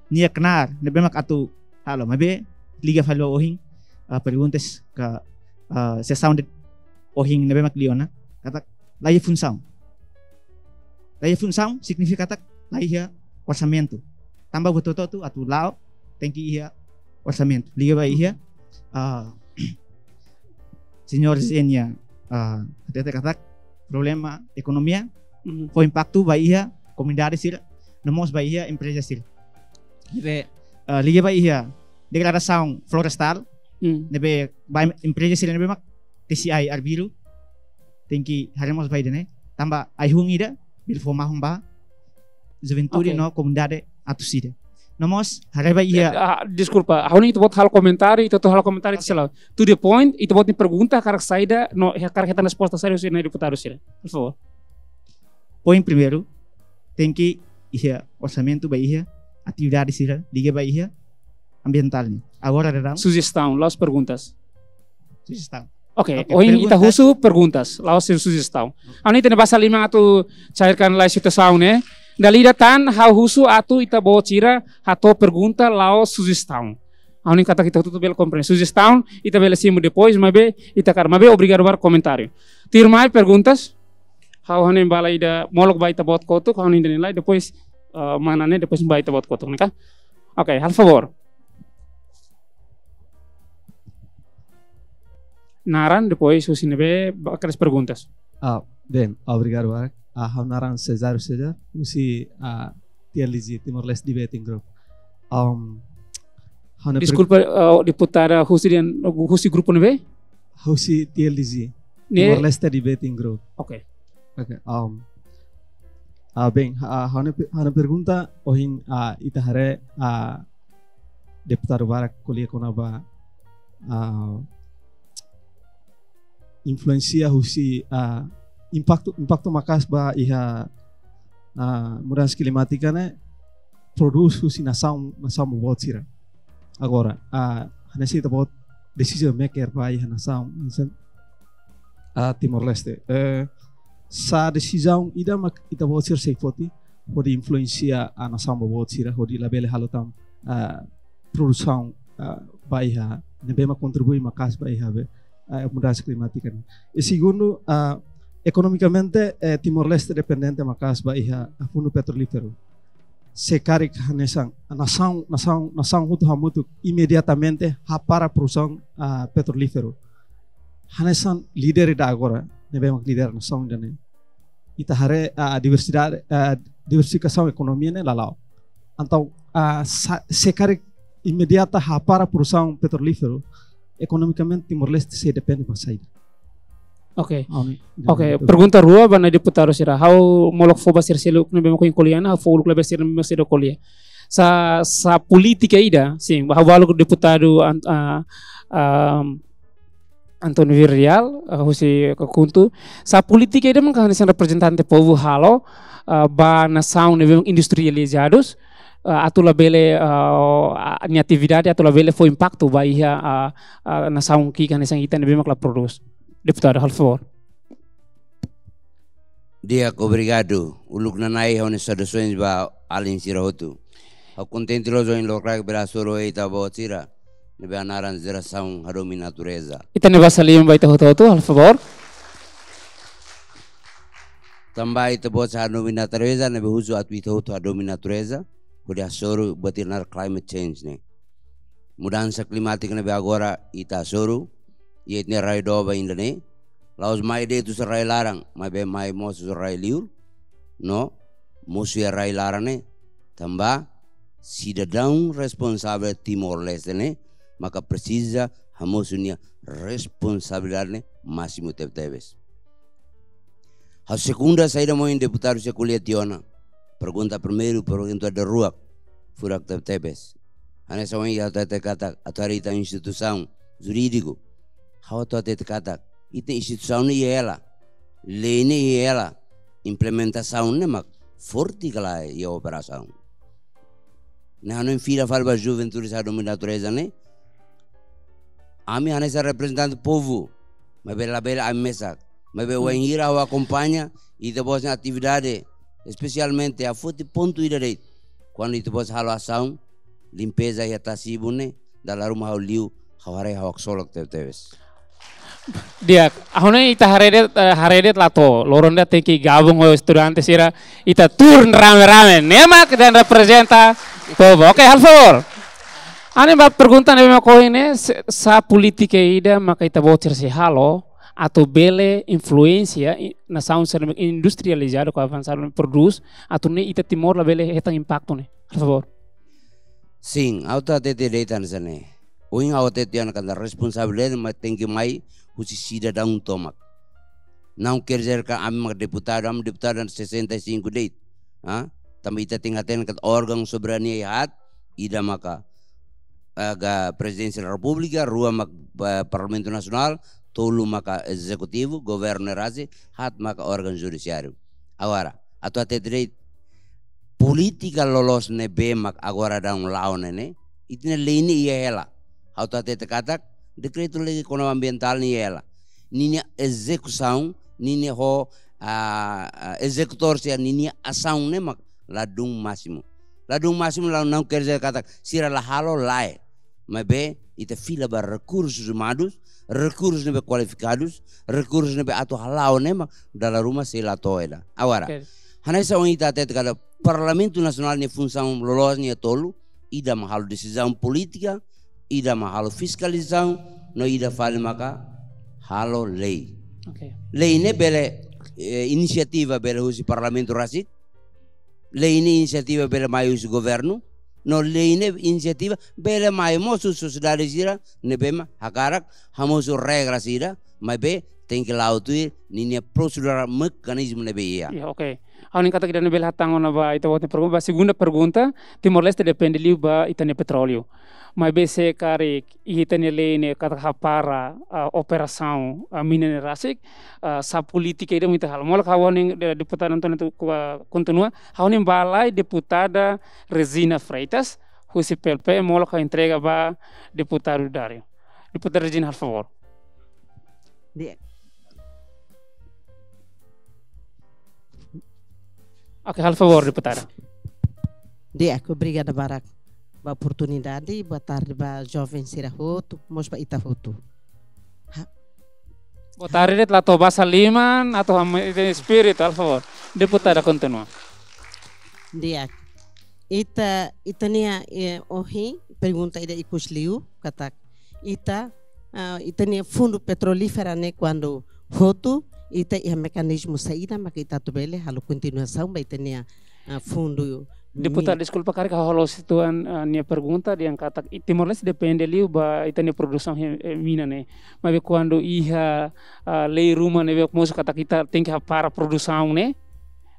nia knaar ne'ebé mak atu halo, maibé liga fali ba ohin, ah, perguntas ka, ah, sesaun de ohin ne'ebé mak liu ona, katak la iha funsaun. La iha funsaun signifika katak la iha orsamentu. Tanba buat hotu-hotu atu la'o, tenke iha orsamentu. Liga ba iha, ah, señór Zenia, ah, hatete katak problema ekonomia fó impaktu ba iha komunidade sira, no mós ba iha empreza sira. Ne'ebé, ah, liga ba iha degradasaun florestál, ne'ebé ba empreza sira ne'ebé mak tesi ai arbiru, tenke haree mós ba ida-ne'e. Tanba ai-hun ida bele fó mahon ba juventude no komunidade atus ida. No mós haree ba iha. Ah, deskulpa, ha'u hanoin ita-boot halo komentáriu, ita atu halo komentáriu, oke, sela. To the point, ita-boot nia pergunta hakarak saida, no hakarak hetan resposta saida husi deputadu sira. Por favór. Poin primeiru, tenke iha orsamentu ba iha atividade sira liga ba iha ambientál nian. Agora daudaun. Sujestaun, la'ós perguntas. Sujestaun. Oke, oke, ohin ita husu perguntas, la'ós sujestaun. Ha'u hanoin ita-nia basa liman atu cairkan lai situasaun ne'e. Dala ida tan ha'u husu atu ita-boot sira hato'o pergunta la'ós sujestaun. Ha'u hanoin katak ita hotu bele komprende. Sujestaun ita bele simu depois, maibé ita hakarak, maibé obrigadu barak komentáriu. Tuirmai perguntas. Ha'u hanoin bala ida molok ba ita-boot kotuk, ha'u hanoin ida-ne'e lai, depois, eh, mana ne'e, depois ba ita-boot kotuk, ne'e ka? Oke, halo favór. Naran, depois husi ne'ebé ba kedas perguntas. Ah, bem, obrigadu barak. Ah, ha'u naran Cesário César, husi, ah, T L D G, Timor-Leste Debating Group. Um, ha'u-nia per- Deskulpa, ah, deputada husi dehan, husi grupu ne'ebé? Husi T L D G, ne'e? Timor-Leste Debating Group. Oke. Oke, um, ah, bem, ah, ha'u-nia pe-, ha'u-nia pergunta, ohin, ah, ita haree, ah, deputadu barak ko'alia kona-ba, ah, influénsia husi, ah, impaktu, impaktu maka'as ba iha, ah, mudansa klimátika ne'e prodús husi nasaun, nasaun boboot sira. Agora, ah, hanesan ita-boot decision maker ba iha nasaun, misalnya, ah, Timor-Leste. Eh, sá desizaun ida mak ita-boot sira sei foti hodi influénsia, ah, nasaun boboot sira hodi labele halo tan, ah, produsaun, ah, ba iha ne'ebé mak kontribui maka'as ba iha be, ah, mudansa klimátika ne'e. I segundu, ah, ekonomikamente, eh, Timor-Leste dependente maka'as ba iha, ah, fundu petrolíferu. Se karik hanesan nasaun, nasaun, nasaun hotu hamutuk imediatamente hapara produsaun, ah, petrolíferu. Hanesan líder ida agora, ne'ebé mak lidera nasaun ida-ne'e. Ita haree, ah, diversidade, ah, diversifikasaun ekonomia ne'e la la'o. Entaun, ah, sa-, se karik imediata hapara produsaun petrolíferu, ekonomikamente Timor-Leste sei depende ba saida. Oke. Ha'u hanoin. Oke, pergunta rua ba ita-nia deputadu sira. Ha'u molok fó ba sira seluk ne'ebé mak ko'alia ona, ha'u fó uluk lai ba sira ne'ebé mak seidauk ko'alia. Sá, sá polítika ida, sin, ha'u balu deputadu an-, ah, ah, António Vieira Real, ah, husi KHUNTO. Sá polítika ida mak hanesan reprezentante povu halo, ah, ba nasaun ne'ebé mak industrializadus, ah, atu labele, ah, ah, nia atividade atu labele fó impaktu ba iha, ah, ah, nasaun ki'ik hanesan ita ne'ebé mak la prodús. Deputadu, halo favór. Di'ak, obrigadu. Uluk nanain ha'u-nia saudasoens ba alin sira hotu. Ha'u kontente loos ohin lokraik bele hasoru ho ita-boot sira ne'ebé naran jerasaun hadomi natureza. Ita-nia basa liman ba ita hotu-hotu, halo favór. Tanba ita-boot sira hadomi natureza, ne'ebé husu atu ita hotu hadomi natureza, hodi hasoru buat ida naran climate change ne'e. Mudansa klimátika ne'ebé agora ita hasoru, iha ita-nia rai doben ida-ne'e, la'ós mai de'it husi rai laran, maibé mai mós husi rai liur, no mosu iha rai laran ne'e, tanba sidadaun responsavel Timor-Leste ne'e, maka presiza hamosu nia responsabilidade ne'e másimu tebetebes. Ha'u sekunda saida mak ohin deputadu sira ko'alia tiha ona. Pergunta primeiru, pergunta daruak, furak tebetebes. Hanesan ohin ita hatete katak, atu haree ita instituisaun jurídiku. Ha'u atu hatete katak, ita instituisaun ne'e iha hela, lei ne'e iha hela, implementasaun ne'e mak forte ka lae iha operasaun. Ne'e ha'u hanoin fila fali ba juventude sira hadomi natureza ne'e. Ami hanesan reprezentante povu, maibé labele ami mesak. Maibé wainhira ha'u akompaña ita-boot nia atividade, espesialmente ha'u foti pontu ida de'it. Kuandu ita-boot halo asaun limpeza iha tasi-ibun ne'e, dala ruma ha'u liu, ha'u haree ha'u haksolok tebetebes. Di'ak, ha'u hanoin ita haree de'it, eh, haree de'it la to'o. Loron ida tenke gabung ho estudante sira, ita turun rame-rame. Ne'e mak ita reprezenta povu. Oke, halo favór. Ha'u-nia ba pergunta ne'ebé mak ohin ne'e, se-, sá polítika ida maka ita-boot sira sei halo atu bele influensia i-, nasaun sira ne'ebé industrializadu ka avansadu ne'e prodús, atu nune'e ita Timor labele hetan impaktu ne'e. Por favór. Sin, ha'u hatete de'it hanesan ne'e. Ohin ha'u hatete tiha ona katak responsabilidade mak tenke mai husi sidadaun tomak. Não quer dizer katak ami mak deputadu, ami deputadu sesenta e cinco de'it. Ha? Tanba ita tenke hatene katak órgaun soberania iha haat, ida maka, ah, ga Prezidénsia da Repúblika, rua mak, ah, Parlamentu Nasionál, tolu maka Ezekutivu, governu ne'e rasik, haat maka órgaun judisiáriu. Agora, atu hatete de'it, polítika loloos ne'ebé mak agora daudaun la'o ne'e ne'e, ita-nia lei ne'e iha hela. Ha'u atu hatete katak, dekretu-lei kona-ba ambientál ne'e iha hela. Ninia ezekusaun, ninia ho, ah, ah, ezekutór sira ninia asaun ne'e mak ladún másimu. Ladún másimu la, não quer dizer katak sira la halo, lae. Maibé ita fila ba rekursus umanus, rekursus ne'ebé kualifikadus, rekursus ne'ebé atu hala'o ne'e mak dala ruma sei la to'o ida. Agora, oke, hanesan ohin ita hatete katak Parlamentu Nasionál nia funsaun loloos nia tolu, ida mak halo desizaun polítika, ida mak halo fiskalizasaun, no ida fali maka halo lei. Oke. Lei ne'e bele, eh, inisiativa bele husi Parlamentu rasik, lei ne'e inisiativa bele mai husi governu, no lei ne'e inisiativa bele mai mós husi sosiedade sira ne'ebé mak hakarak hamosu regra sira, maibé tenke la'o tuir ninia prosedura mekanizmu ne'ebé iha. Ya, oke. Ha'u hanoin katak ida-ne'e bele hatán ona ba ita-boot nia pergunta, ba segunda pergunta, Timor-Leste depende liu ba ita-nia petróleu. Maibé se karik ita-nia lei ne'e katak hapara, ah, operasaun, ah, mina ne'e rasik, ah, sá polítika ida mak ita halo. Molok ha'u hanoin, eh, deputada António tu, ku, ah, kontinua, ha'u hanoin ba lai deputada Regina Freitas, husi P L P, molok ha'u entrega ba deputadu Dário. Deputada Regina, por favór. Di'ak. Oke, halo favór, deputada. Di'ak, obrigada barak ba oportunidade. Boa tarde ba joven sira hotu, mós ba ita hotu. Ha? Boa tarde, la to'o basa liman, atu ha'u-nia espíritu, halo favór. Deputada, kontinua. Di'ak. Ita, ita-nia, eh, ohin, pergunta ida ikus liu, katak ita, ah, ita-nia fundu petrolífera ne'e kuandu hotu, ita iha mekanizmu saida maka ita atu bele halo kontinuasaun ba ita-nia, ah, fundu. Deputada, deskulpa, karik ha'u halo situan, ah, nia pergunta dehan katak i-, Timor-Leste depende liu ba ita-nia produsaun he-, eh, mina ne'e. Maibé kuandu iha, ah, lei ruma ne'ebé mosu katak ita tenke hapara produsaun ne'e,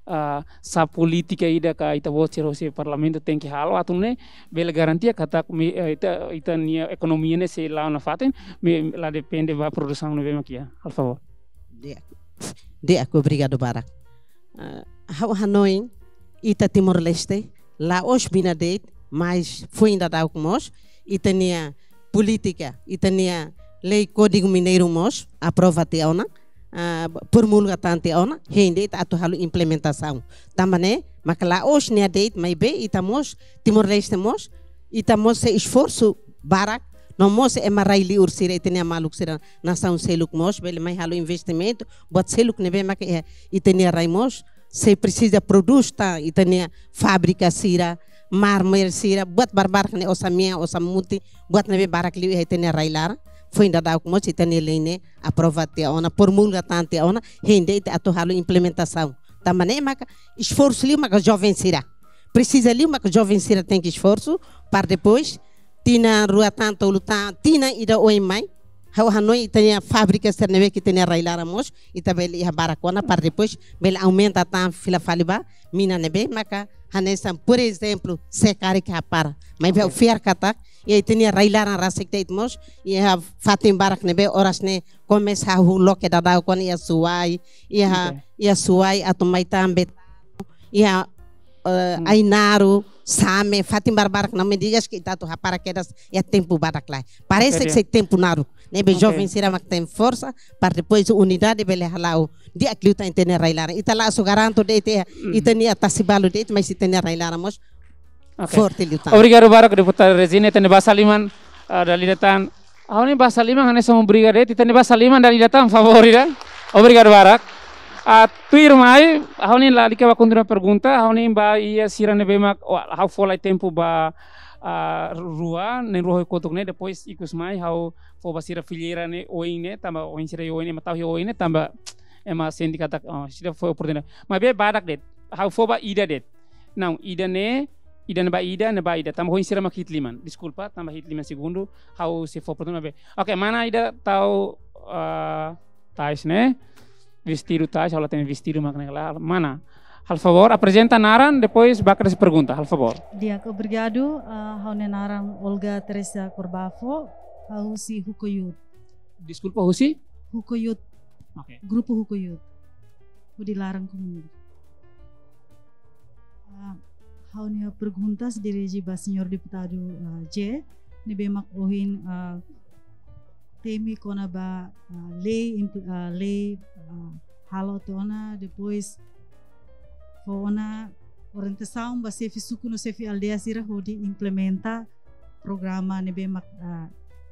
ah, sá polítika ida ka ita-boot sira husi Parlamentu tenke halo atu nune'e bele garantia katak mi-, eh, ita, ita-nia ekonomia ne'e sei la'o nafatin, maibé la depende ba produsaun ne'ebé mak iha. Halo favór. Di'ak. Di'ak, obrigadu barak. Ah, ha'u hanoin ita Timor-Leste la'ós mina de'it, mas foin daudauk mós ita-nia polítika, ita-nia lei Kódigu Mineiru mós aprova tiha ona, ah, promulga tan tiha ona, hein de'it atu halo implementasaun. Tanba ne'e maka la'ós nia de'it, maibé ita mós, Timor-Leste mós, ita mós sei esforsu barak, no mós ema rai-li'ur sira, ita-nia maluk sira, nasaun seluk mós bele mai halo investimentu, buat seluk ne'ebé maka iha ita-nia rai mós sei presiza prodús tan, ita-nia fábrika sira, mármore sira, buat barbarak ne'e, osan-mean, osan-mutin, buat ne'ebé barak liu iha ita-nia rai-laran. Foin daudauk mós ita-nia lei ne'e aprova tiha ona, promulga tan tiha ona, hein de'it atu halo implementasaun. Tanba ne'e maka esforsu liu maka joven sira. Presiza liu maka joven sira tenke esforsu, para depois tinan rua tan, tolu tan, tinan ida oin mai, ha'u hanoin ita-nia fábrika sira ne'ebé ke ita-nia rai-laran mós, ita bele iha barak ona para depois bele aumenta tan fila fali ba mina ne'ebé maka hanesan, por ezemplu, se karik hapara. Maibé ha'u fiar katak iha ita-nia rai-laran rasik de'it mós iha fatin barak ne'ebé oras ne'e komesa hahú loke daudauk ona iha Suai, iha, iha Suai atu mai tan Bet-, iha, eh, Ainaro, Same, fatin barbarak ne'ebé di'ak ke ita atu hapara kedas iha tempu badak lai. Parese ke sei tempu naruk. Ne'ebé joven sira mak tenke forsa, para depois unidade bele hala'o di'ak liután ita-nia rai-laran. Ita la'ós garantu de'it, ita-nia tasi balu de'it, mas ita-nia rai-laran mós forte liután. Obrigadu barak, deputada Regina, ita-nia basa liman, ah, dala ida tan. Ha'u-nia basa liman, hanesan obrigadu, ita-nia basa liman dala ida tan, favór ida. Obrigadu barak. Ah, tuirmai, ha'u-nia lalika ba kontinua pergunta, ha'u-nia ba iha sira ne'ebé mak, oh, ha'u fó lai tempu ba, ah, rua, na'in rua ho kotuk ne'e, depois ikus mai ha'u fó ba sira fileira ne'e oin ne'e, tanba oin sira oin ne'e, ema tau iha oin ne'e, tanba ema sente katak, oh, sira fó oportunidade. Maibé badak de'it, ha'u fó ba ida de'it. Não, ida ne'e, ida ne'e ba ida, ne'e ba ida. Tanba oin sira mak hi'it liman. Deskulpa, tanba hi'it liman segundu, ha'u sei fó oportunidade maibé. Oke, mana ida tau, ah, tais ne'e? Vestidu tais, ha'u la hatene vestidu mak ne'e ka lae. Mana? Halo favór, aprezenta naran, depois bakat pergunta, halo favór. Di'ak, obrigadu. Ah, ha'u-nia naran Olga Teresa Corbafo, ha'u husi Hukoyut. Deskulpa, husi? Hukoyut. Oke. Grupu Hukoyut. Hodi laran komunidade. Ah, ha'u-nia perguntas dirije ba señór deputadu, ah, J, ne'ebé mak ohin, ah, temi kona-ba, ah, lei impl-, ah, lei, ah, halo tiha ona, depois fó ona orientasaun ba xefe suku no xefe aldeia sira hodi implementa programa ne'ebé mak, ah,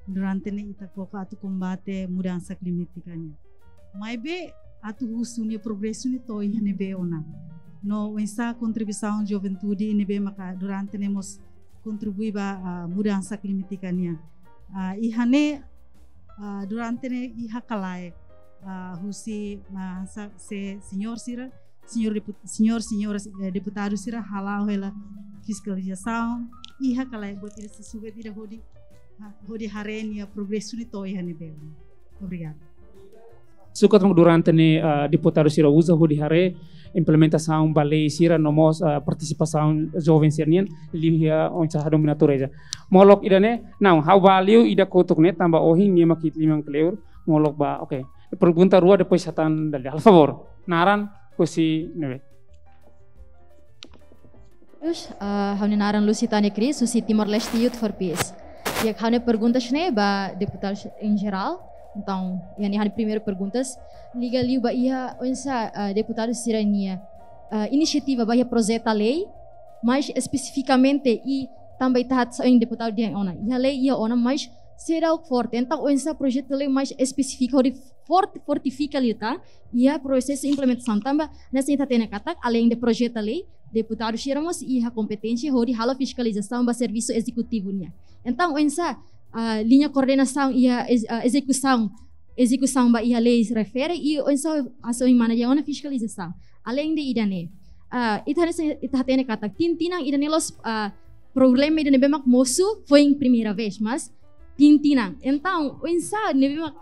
durante ne'e ita koko atu kombate mudansa klimátika nian. Maibé atu husu nia progresu ne'e to'o iha ne'ebé ona. No oinsá kontribuisaun juventude ne'ebé maka durante ne'e mós kontribui ba, ah, mudansa klimátika nian. Ah, iha ne'e, ah, durante ne'e iha ka lae, ah, husi, ah, sa-, se señór sira, señór depu-, señór, señora, eh, deputadu sira hala'o hela fiskalizasaun, iha ka lae buat ida susubet ida hodi, ah, hodi haree nia progresu ne'e to'o iha ne'ebé. Obrigadu. Sukat mak durante ne'e, ah, deputadu sira uza hodi haree implementasaun ba lei sira no mós, ah, partisipasaun joven sira-nian, liuliu oinsá hadomi natureza. Molok ida-ne'e, não, ha'u ba liu ida kotuk ne'e, tanba ohin nia mak hi'it liman kleur, molok ba, oke. Pergunta rua, depois hatán dala ida. Halo favór. Naran, husi ne'ebé? Terus, eh, ha'u-nia naran Lusitania Cris, husi Timor-Leste Youth for Peace. Di'ak, ha'u-nia perguntas ne'e ba deputadu em geral. Entaun, iha ne'e ha'u-nia primeiru perguntas, liga liu ba iha oinsá, eh, deputadu sira-nia, eh, inisiativa ba iha projetu lei, mais espesifikamente i tanba ita hatán ohin deputadu dehan ona. Iha lei iha ona, mais seidauk forte. Entaun, oinsá projetu lei mais espesífiku hodi forte, fortifika liután iha prosesu implementasaun tanba, hanesan ita hatene katak, além de projetu lei, deputadu sira mós iha kompeténsia hodi halo fiskalizasaun ba servisu ezekutivu nian. Entaun, oinsá, ah, liña koordenasaun iha ez-, ah, ezekusaun, ezekusaun ba iha lei refere i oinsá hanesan mana dehan ona fiskalizasaun. Além de ida-ne'e, ah, ita hanesan, ita hatene katak, tinan-tinan ida-ne'e la'ós, ah, problema ida ne'ebé mak mosu foin primeira vez, mas tinan-tinan. Entaun, oinsá ne'ebé mak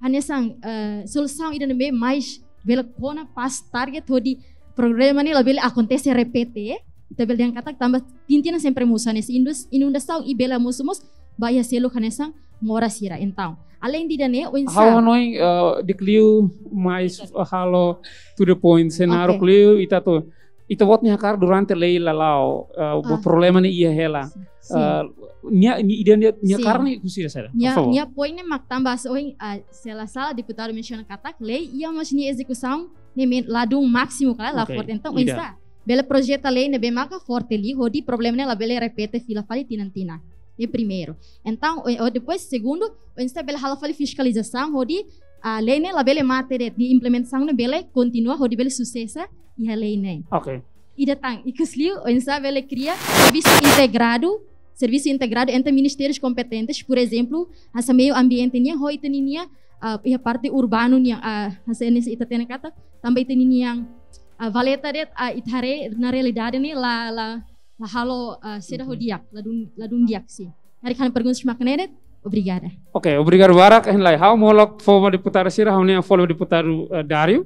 hanesan, eh, solusaun ida ne'ebé mais bele kona pas target hodi problema ne'e labele akontese repete, eh. Ita bele dehan katak tanba tinan-tinan sempre mosu hanesan indus-, inundasaun i bele mosu mós ba iha seluk hanesan moras sira. Entaun, além de ida-ne'e, oinsá. Ha'u hanoin, eh, di'ak liu mais halo to the point, senáriu. Oke. Liu ita atu ita-boot nia hakarak durante lei la la'o, eh, bo Ah. problema ne'e iha hela. Sin. Eh, nia, nia, ida nia, nia Sin. hakarak ne'e husi ida saida? Nia, Por favor. Nia poin ne'e mak tanba hanesan ohin, ah, se la sala deputadu mensiona katak, lei iha, mas nia ezekusaun ne'e men-, ladún másimu ka lae, la Oke, forte. Entaun, ida. Oinsá bele projeta lei ne'ebé maka forte liu, hodi problema ne'e labele repete fila fali tinan-tinan. Ne'e primeiru. Entaun, o, o, depois, segundu, oinsá bele halo fali fiskalizasaun, hodi, ah, lei ne'e labele mate de'it, nia implementasaun ne'e bele kontinua, hodi bele susesu iha lei ne'e. Oke. Ida tan, ikus liu, oinsá bele kria servisu integradu, servisu integradu entre ministérius kompetentes, por ezemplu, hanesan meiu ambiente nian, ho ita-nia, ah, iha parte urbanu nian, ah, hanesan ne'e ita hatene katak, tanba ita-nia, ah, valeta de'it, ah, ita haree, na realidade ne'e la, la, la halo, ah, seidauk di'ak, ladún, ladún di'ak, sin. Karik ha'u-nia perguntas mak ne'e de'it, obrigada. Oke, obrigadu barak, hein lai. Ha'u molok fó ba deputadu sira, ha'u-nia fó ba deputadu, eh, Dário,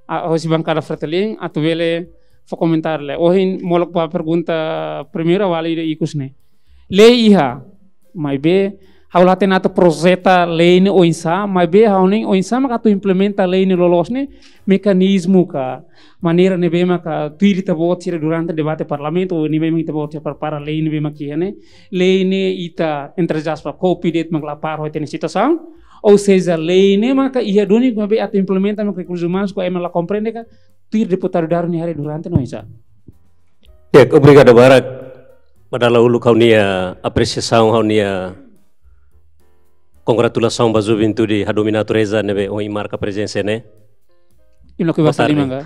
ah, hosi bankada Fretilin, atu bele fó komentáriu lai. Ohin molok ba pergunta primeira, vale ida ikus ne'e. Lei iha, maibé, ha'u la hatene atu projeta lei ne'e oinsá, maibé ha'u-nia oinsá maka atu implementa lei ne'e loloos ne'e, mekanizmu ka, maneira ne'ebé maka tuir ita-boot sira durante debate parlamentu, ou ne'ebé maka ita-boot sira prepara lei ne'ebé maka iha ne'e, lei ne'e ita, entre aspas, copy de'it mak la para ho ita-nia situasaun, ou seja, lei ne'e maka iha duni maibé atu implementa maka rekursus umanus ka ema la komprende ka, tuir deputadu Dário nia haree durante ne'e oinsá. Di'ak, obrigadu barak. Ba dala uluk ha'u-nia apresiasaun, ha'u-nia kongratulasaun ba juventude hadomi natureza ne'ebé ohin marka prezensa ne'e. Ino ke Boa tarde.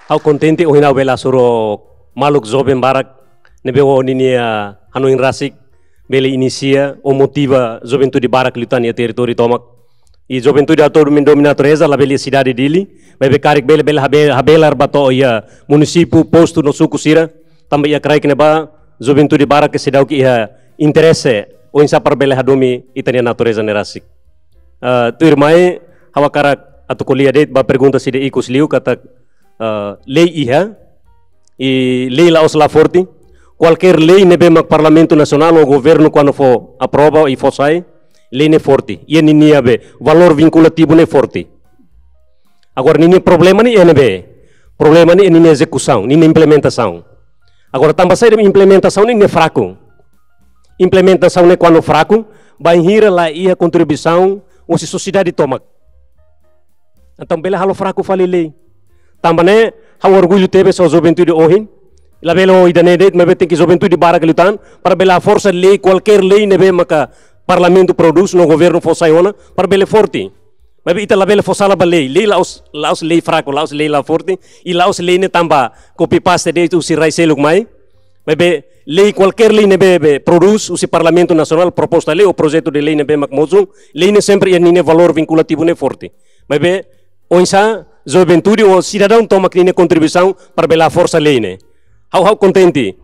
Ha'u kontente ohin ha'u bele hasoru maluk joven barak ne'ebé ho ninia hanoin rasik bele inisia ou motiva juventude barak liután iha territóriu tomak. I juventude atu domin-, domina natureza, labele iha sidade Dili, maibé karik bele, bele habe-, habelar ba to'o iha munisípiu, postu no suku sira, tanba iha kraik ne'ebá juventude barak seidauk iha interese oinsá para bele hadomi ita-nia natureza ne'e rasik. Ah, tuirmai, ha'u hakarak atu ko'alia de'it ba pergunta sira ikus liu katak, ah, lei iha, i lei la'ós la forte. Kualkér lei ne'ebé mak Parlamentu Nasionál ou governu kuandu fó aprova i fó sai, lei ne'e forte. Iha ninia be valór vinkulativu ne'e forte. Agora ninia problema ne'e iha ne'ebé? Problema ne'e ninia ezekusaun, ninia implementasaun. Agora tanba saida implementasaun ne'e fraku? Implementasaun ne'e kuandu fraku, bainhira la iha kontribuisaun husi sosiedade tomak. Entaun bele halo fraku fali lei. Tanba ne'e, ha'u orgullu tebes ho juventude ohin. Labele ho ida-ne'e de'it, maibé tenke juventude barak liután, para bele haforsa lei, kualkér lei ne'ebé maka Parlamentu prodús, no governu fó sai ona, para bele forte. Maibé ita labele fó sala ba lei. Lei la'ós, la'ós lei fraku, la'ós lei la forte, i la'ós lei ne'e tanba copy paste de'it husi rai seluk mai. Maibé lei, kualkér lei ne'ebé be prodús husi Parlamentu Nasionál, proposta lei ou projetu de lei ne'ebé mak mosu, lei ne'e sempre iha ninia valór vinkulativu ne'e forte. Maibé oinsá juventude ou sidadaun tomak ninia kontribuisaun para bele haforsa lei ne'e. Ha'u, ha'u kontente.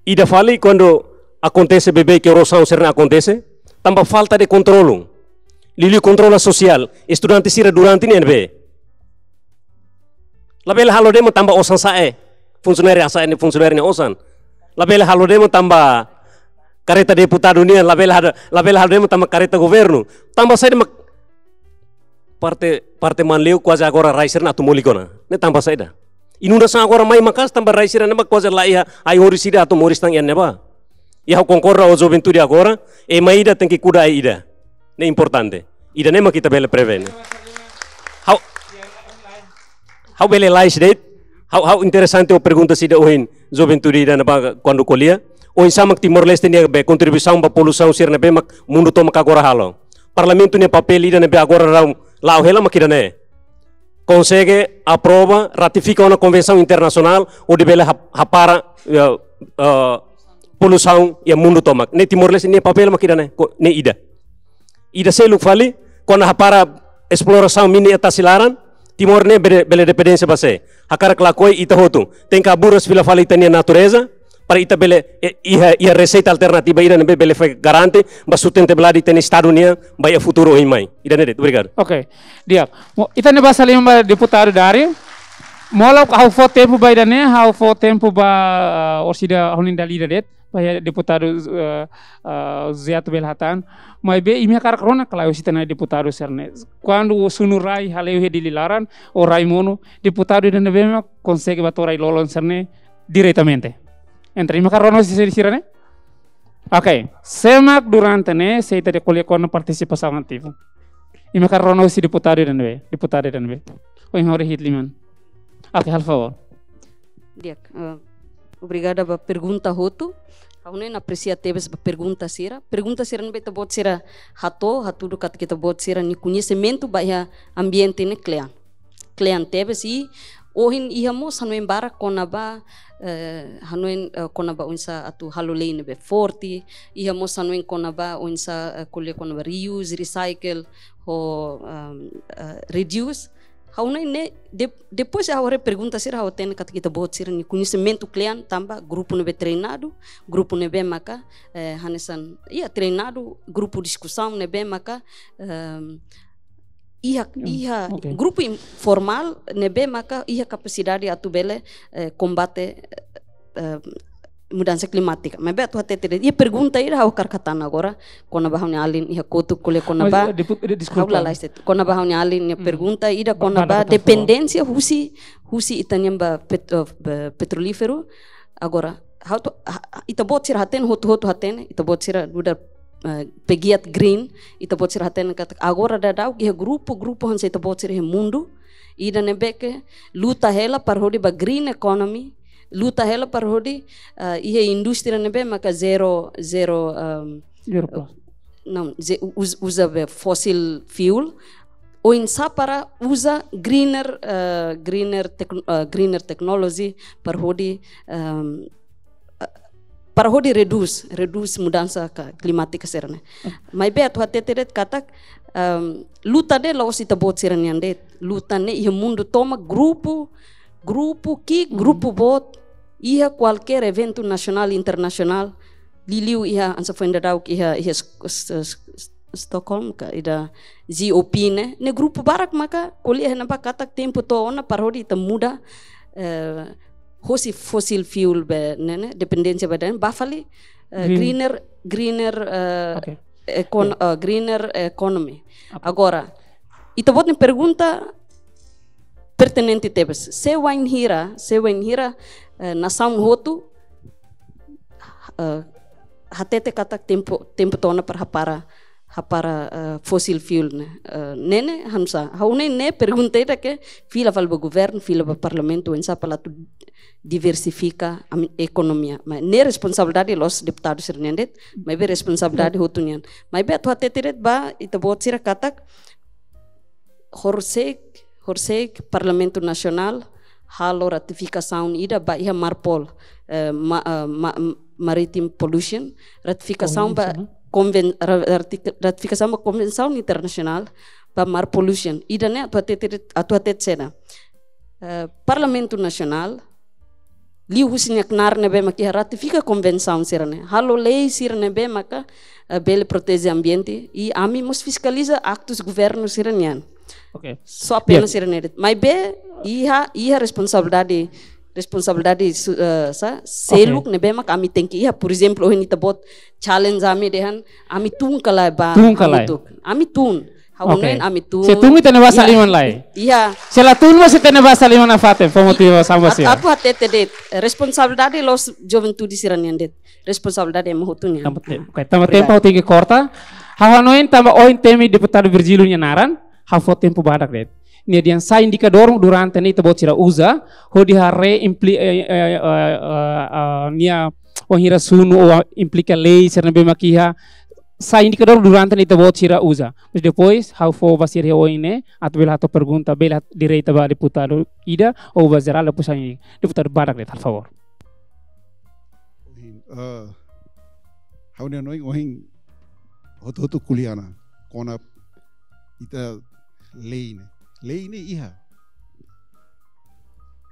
Ida fali kuandu akontese beibeik, erozaun sira-ne'e akontese, tanba falta de kontrolu. Liuliu kontrolu sosiál, estudante sira durante ne'e ne'ebé labele halo demo tanba osan sa'e, funsionáriu sa'e ne'e, funsionáriu nia osan. Labele halo demo tanba kareta deputadu nian, labele halo, labele halo demo tanba kareta governu. Tanba saida mak parte, parte Manleu kuaze agora rai sira-ne'e atu molik ona? Ne'e tanba saida? Inundasaun agora mai maka'as tanba rai sira-ne'e mak kuaze la iha ai-horis ida atu moris tan iha ne'ebá. I ha'u konkorda ho juventude agora, ema ida tenke kuda ai ida. Ne'e importante. Ida-ne'e mak ita bele prevene. Ha'u, ha'u bele lais de'it. Ha'u, ha'u interesante ho pergunta sira ohin juventude ida ne'ebá kuandu ko'alia. Oinsá mak Timor-Leste nia be kontribuisaun ba poluisaun sira ne'ebé mak mundu tomak agora halo. Parlamentu nia papél ida ne'ebé agora daudaun la'o hela mak ida-ne'e. Konsege aprova, ratifika ona konvensaun internasionál, hodi bele hap-, hapara, eh, eh, poluisaun iha mundu tomak. Ne'e Timor-Leste nia papél mak ida-ne'e, ko-, ne'e ida. Ida seluk fali, kona-ba hapara esplorasaun mina iha tasi laran, Timor ne'e bele, bele dependénsia ba sé? Hakarak lakohi ita hotu tenke haburas fila fali ita-nia natureza, para ita bele, eh, iha, iha reseita alternativa ida ne'ebé bele fó garante ba sustentabilidade ita-nia Estadu nian ba iha futuru oin mai. Ida-ne'e de'it, obrigadu. Oke, di'ak. Mo, ita-nia basa liman ba deputadu Dario. Molok ha'u fó tempu ba ida-ne'e, ha'u fó tempu ba, ah, orsida ha'u-nia dala ida de'it. Ba iha deputadu, eh, eh, José atu bele hatán. Maibé imi hakarak rona ka lae husi ita-nia deputadu sira-ne'e. Kuandu sunu rai hale'u iha Dili laran, ou rai monu, deputadu ida ne'ebé mak konsege ba to'o rai-lolon sira-ne'e diretamente. Entaun imi hakarak rona husi sira-ne'e? Oke, sé mak durante ne'e, se ita dehan ko'alia kona-ba partisipasaun ativu. Imi hakarak rona husi deputadu ida ne'ebé, deputada ida ne'ebé. Ohin ha'u haree hi'it liman. Oke, halo favór. Di'ak, eh, obrigada ba pergunta hotu. Ha'u-nia apresia tebes ba pergunta sira. Pergunta sira ne'ebé ita-boot sira hato'o, hatudu katak ita-boot sira-nia koñesimentu ba iha ambiente ne'e kle'an. Kle'an tebes i ohin iha mós hanoin barak kona-ba, eh, hanoin, eh, kona-ba oinsá atu halo lei ne'ebé forte, iha mós hanoin kona-ba oinsá, eh, ko'alia kona-ba reuse, recycle, ho, ehm, eh, reduce. Ha'u-nia ne'e, de-, depois ha'u haree pergunta sira ha'u hatene katak ita-boot sira-nia koñesimentu kle'an tanba grupu ne'ebé treinadu, grupu ne'ebé maka, eh, hanesan, iha treinadu, grupu diskusaun ne'ebé maka, ehm, iha, hmm, iha, oke, grupu informál ne'ebé maka iha kapasidade atu bele, eh, kombate, eh, mudansa klimátika. Maibé atu hatete de'it, iha pergunta ida ha'u hakarak hatán agora, kona-ba ha'u-nia alin iha kotuk ko'alia kona-ba, mas, eh, depu-, de-, deskulpa, ha'u lalais de'it. Kona-ba ha'u-nia alin nia, hmm, pergunta ida, ba-, kona-ba, ba-, ba-, dependénsia husi, husi ita-nian ba pet-, eh, ba petrolíferu. Agora, ha'u atu, ha-, ha-, ita-boot sira hatene, hotu-hotu hatene, ita-boot sira nu'udar, eh, pegiat green, ita-boot sira hatene katak agora daudaun iha grupu, grupu hanesan ita-boot sira iha mundu, ida ne'ebé ke luta hela para hodi ba green economy, luta hela para hodi, eh, iha indústria ne'ebé maka zero, zero, ehm, zero plus, não, ze-, u-, uz-, uza be fossil fuel, oinsá para uza greener, eh, greener tec-, eh, greener technology para hodi, ehm, eh, para hodi redús, redús mudansa ka klimátika sira-ne'e. Maibé atu hatete de'it katak, em, luta ne'e la'ós ita-boot sira-nian de'it. Luta ne'e iha mundu tomak, grupu, grupu ki'ik, grupu boot, iha kualkér eventu nasionál, internasionál, liuliu iha, hanesan foin daudauk iha, iha S-, S-, S-, Stockholm ka ida COP ne'e, ne'e grupu barak maka ko'alia iha ne'ebá katak tempu to'o ona para hodi ita muda, eh, hosi fossil fuel be ne'e, ne'e, dependénsia ba ida-ne'e, ba fali, eh, Green. Greener, greener, eh, Oke. Econ-, eh, greener economy. Oke. Agora, ita-boot nia pergunta pertinente tebes. Se wainhira, se wainhira, eh, nasaun hotu, eh, hatete katak tempu, tempu to'o ona para hapara, hapara, eh, fossil fuel ne'e. Eh, ne'e ne'e, hanesan, ha'u hanoin ne'e pergunta ida ke fila fali ba governu, fila ba parlamentu, oinsá para atu diversifika ami-, ekonomia. Mas ne'e responsabilidade la'ós deputadu sira-nian de'it, maibé responsabilidade hotu nian. Maibé atu hatete de'it ba ita-boot sira katak, horisehik, horisehik Parlamentu Nasionál halo ratifikasaun ida ba iha MARPOL, eh, ma-, eh, ma-, m-, maritime pollution, ratifikasaun ba Konvensaun, eh? konven-, ra-, rati-, ratifikasaun ba konvensaun internasionál ba mar pollution. Ida-ne'e atu hatete, atu hatete saida. Eh, Parlamentu Nasionál liuhusi nia knaar ne'ebé mak iha ratifika konvensaun sira-ne'e, halo lei sira ne'ebé maka, eh, bele proteje ambiente, i ami mós fiskaliza aktus governu sira-nian. Oke. Só apenas Di'ak. Sira-ne'e de'it. Maibé iha, iha responsabilidade, responsabilidade su-, eh, sa-, seluk Oke. Ne'ebé mak ami tenke iha, por ezemplu, ohin ita-boot challenge ami dehan, ami tun ka lae ba Tun ka lae. hamutuk. Ami tun. Ha'u Oke. Hanoin ami tun. Se tun ita-nia basa Iha. Liman lae. Iha. Se la tun mós ita-nia basa liman nafatin, fó motivasaun ba Atu, sira. Atu hatete de'it, responsabilidade la'ós juventude sira-nian de'it. Responsabilidade ema hotu nian. Tanba te-, Ah. oke, tanba Obrigadu. Tempu ha'u tenke korta. Ha'u hanoin tanba ohin temi deputadu Virgílio nia naran, ha'u fó tempu badak de'it. Nia dehan sai indikadór durante ne'e ita-boot sira uza, hodi haree impli-, eh, eh, eh, eh, eh, nia wainhira sunu ou implika lei sira ne'ebé mak iha, sai indikadór durante ne'e ita-boot sira uza. Mas depois, ha'u fó ba sira ohin ne'e, atu bele hato'o pergunta, bele hat-, direta ba deputadu ida, ou ba jerál, depois sai deputadu badak de'it, por favór. Ohin, eh, ha'u-nia hanoin ohin hotu-hotu ko'alia ona, kona-ba ita lei ne'e. Lei ne'e iha.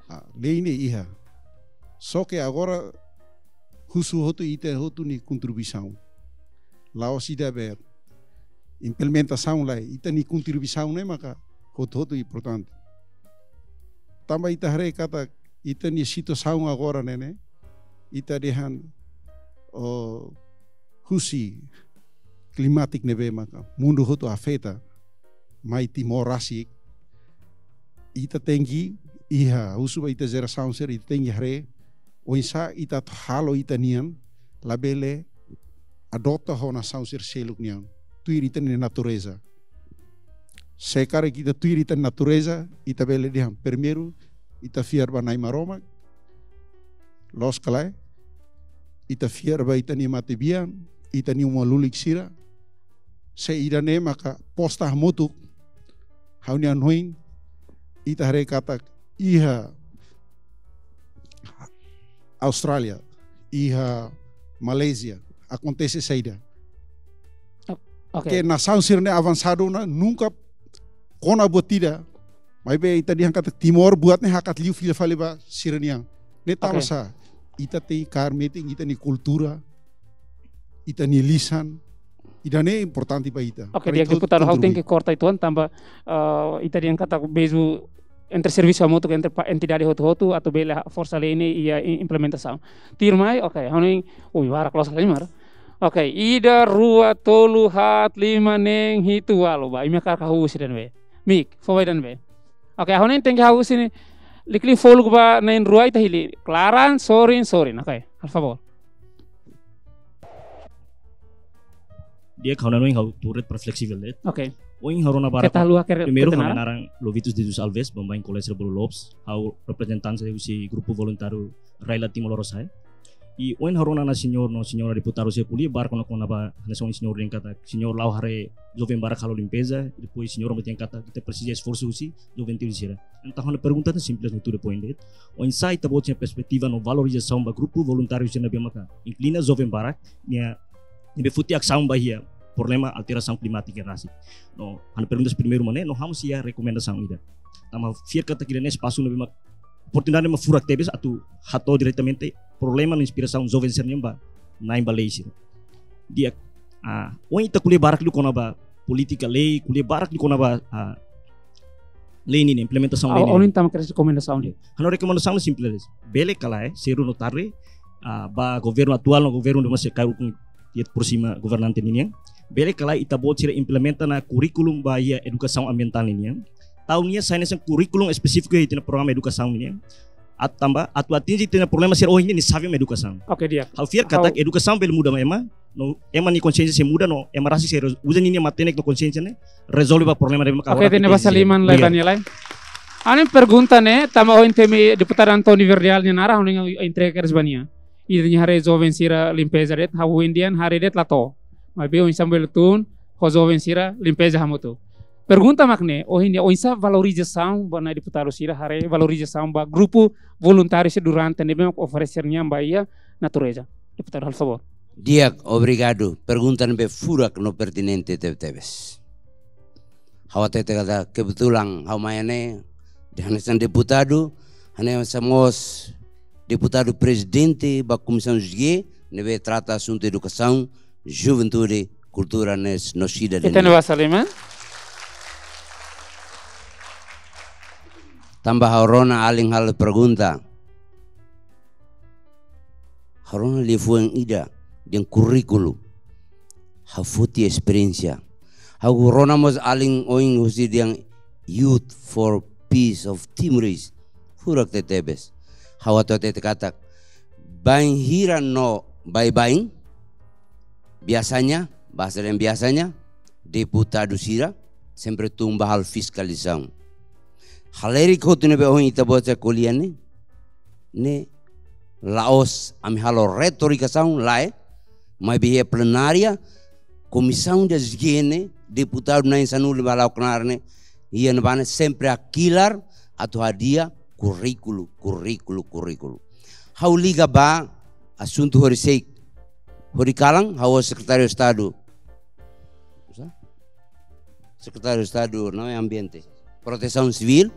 Ah, lei ne'e iha. Só ke agora husu hotu ita hotu nia kontribuisaun. La'ós ida be implementasaun lae, ita-nia kontribuisaun ne'e maka hotu-hotu importante. Tanba ita haree katak ita-nia situasaun agora ne'e ne'e, ita dehan, oh, husi klimátika ne'ebé maka mundu hotu afeta, mai Timor rasik, ita tenke iha, husu ba ita jerasaun sira, ita tenke haree oinsá ita atu halo ita-nian labele adota ho nasaun sira seluk nian, tuir ita-nia natureza. Se karik ita tuir ita-nia natureza, ita bele dehan primeiru, ita fiar ba Nai Maromak, loos ka lae, ita fiar ba ita-nia matebian, ita-nia uma lulik sira, se ida-ne'e maka posta hamutuk, ha'u-nia hanoin, ita haree katak iha Austrália, iha Malázia, akontese saida. O-, oke. Ke nasaun sira-ne'e avansadu ona, nunka kona buat ida. Maibé ita dehan katak Timor buat ne'e hakat liu fila fali ba sira-nian. Ne'e tanba Oke. sá, ita tenke kaer metin ita-nia kultura, ita-nia lisan, ida-ne'e importante ba ita. Oke, Para di'ak ita deputadu, ha'u kontribui. Tenke korta uitoan tanba, eh, ita dehan katak bezu entre servisu hamutuk entre pa-, entidade hotu-hotu atu bele ha-, forsa lei ne'e iha i-, implementasaun. Tuirmai, oke, ha'u hanoin, ui, barak loos liu, mar. Oke, ida, rua, tolu, haat, lima, neen, hitu, ualu, ba. Imi hakarak hahú husi ida-ne'ebé. Mik, fó ba ida-ne'ebé. Oke, ha'u hanoin tenke hahú husi ne'e. Liklik foluk ba na'in-rua ita hili. Klaran, sorin, sorin. Oke, por favór. Di'ak, ha'u hanoin ha'u tuur de'it para fleksivel de'it. Oke. Ohin ha'u rona barak. Keta haluha kere-, Primeiru, keta ha'u naran? Naran Lovitus de Jesus Alves, baibain kolega sira bolu Lopes. Ha'u reprezentante husi grupu voluntáriu Raila Timor Lorosa'e. I ohin ha'u rona ona señór no señora deputadu sira ko'alia barak ona kona-ba hanesan señór dehan katak señór la'o haree joven barak halo limpeza, depois señór mós dehan katak ita presiza esforsu husi juventude sira. Entaun ha'u-nia pergunta ne'e simples no to the point de'it. Oinsá ita-boot sira-nia perspetiva no valorizasaun ba grupu voluntáriu sira ne'ebé maka inklina joven barak nia, ne'ebé foti asaun ba iha problema alterasaun klimátika rasik. No ha'u-nia pergunta primeiru mak ne'e, no ha'u mós iha rekomendasaun ida. Tanba fiar katak ida-ne'e espasu ne'ebé mak oportunidade mak furak tebes atu hato'o diretamente problema no inspirasaun joven sira-nian ba na'in ba lei sira. Di'ak, ah, ohin ita ko'alia barak liu kona-ba polítika lei, ko'alia barak liu kona-ba, ah, lei ninia implementasaun lei ninia. Ohin tama kedas rekomendasaun de'it. Ha'u-nia rekomendasaun simples. Bele ka lae, sedu no tarde, ah, ba governu atuál no governu ne'ebé sei kaer ukun iha prósimu governante ninian. Bele ka lae ita-boot sira implementa ona kurríkulu ba iha edukasaun ambientál ninian. Tau nia sai hanesan kurríkulu espesífiku iha ita-nia programa edukasaun ninian. Atu tanba, atu atinje ita-nia problema sira ohin ne'e, nia xave mak edukasaun. Oke, di'ak. Ha'u fiar katak edukasaun bele muda ema, no ema nia konxiénsia sei muda, no ema rasik sei uza ninia matenek no konxiénsia ne'e rezolve ba problema ne'ebé mak agora ita iha. Oke, tenke basa liman lai. Obrigadu. Bani lai. Ha'u-nia pergunta ne'e, tanba ohin temi deputadu António Verdial nia naran, ha'u hanoin entrega kedas ba nia. Ida-ne'e haree joven sira limpeza de'it, ha'u ohin dehan haree de'it la to'o. Maibé oinsá bele tun ho joven sira limpeza hamutuk. Pergunta mak ne'e, ohin ne'e oinsá valorizasaun ba nai deputadu sira haree valorizasaun ba grupu voluntáriu sira durante ne'ebé mak oferese nian ba iha natureza. Deputadu, halo favór. Di'ak, obrigadu. Pergunta ne'ebé furak no pertinente tebetebes. Ha'u hatete katak kebetulan ha'u mai ne'e hanesan deputadu, hanesan mós deputadu prezidente ba Komisaun G, ne'ebé trata asuntu edukasaun, juventude, kultura no sidadania. Ita-nia basa liman. Tanba ha'u rona alin halo pergunta. Ha'u rona liafuan ida dehan kurríkulu. Ha'u foti esperiénsia. Ha'u rona mós alin ohin husi dehan Youth for Peace of Timor-Leste. Furak tebetebes. Ha'u atu hatete katak bainhira no baibain, biasanya, bahasa dehan biasanya, deputadu sira sempre tun ba halo fiskalizasaun. Halerik hotu ne'ebé ohin ita-boot sira ko'alia ne'e, ne'e la'ós ami halo retorikasaun, lae, maibé iha plenária, komisaun de ijiene, deputadu na'in sanulu ba la'o knaar ne'e, iha ne'ebá ne'e sempre hakilar atu hadi'a kurríkulu, kurríkulu, kurríkulu. Ha'u liga ba asuntu horiseik. Horikalan, ha'u sekretáriu Estadu. Sekretáriu Estadu, não é ambiente. Protesaun Sivíl,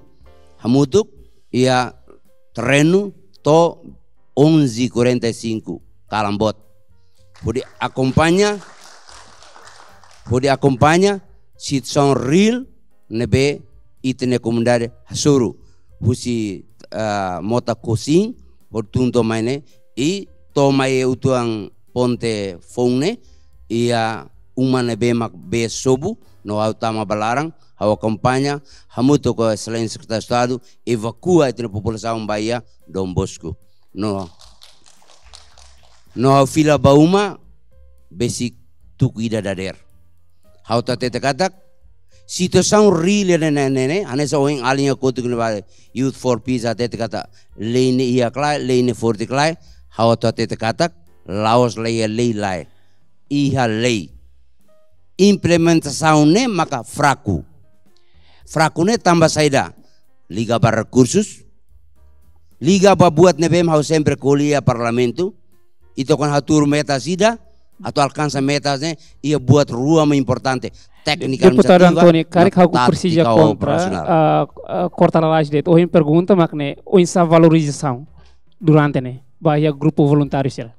hamutuk, iha terrenu, to'o onze e quarenta e cinco, kalan boot. Hodi akompaña, hodi akompaña situasaun reál ne'ebé ita-nia komunidade hasoru. Husi, ah, mota Kosin, hodi tun to'o mai ne'e, i to'o mai uitoan ponte foun ne'e, iha uma ne'ebé mak bee sobu, no ha'u tama ba laran, ha'u akompaña, hamutuk ho Exelénsia Sekretáriu Estadu, evakua ita-nia populasaun ba iha Dom Bosco. No, no ha'u fila ba uma, besik tuku ida dadeer. Ha'u atu hatete katak, situasaun reál ne'e, ne'e, ne'e, ne'e, hanesan ohin alin kotuk ne'ebá Youth for Peace hatete katak, lei ne'e iha ka lae, lei ne'e forte ka lae, ha'u atu hatete katak, la'ós la iha lei lae. Iha lei. Implementasaun ne'e maka fraku. Fraku ne'e tanba saida? Liga ba rekursus, liga ba buat ne'ebé mak ha'u sempre ko'alia iha parlamentu, ita kuandu hatuur metas ida, atu alkansa metas ne'e, iha buat rua mak importante, téknika administrativa, no tátika operasionál. Deputadu António, karik ha'u presiza kontra, ah, ah, korta lalais de'it, ohin pergunta mak ne'e, oinsá valorizasaun durante ne'e, ba iha grupu voluntáriu sira.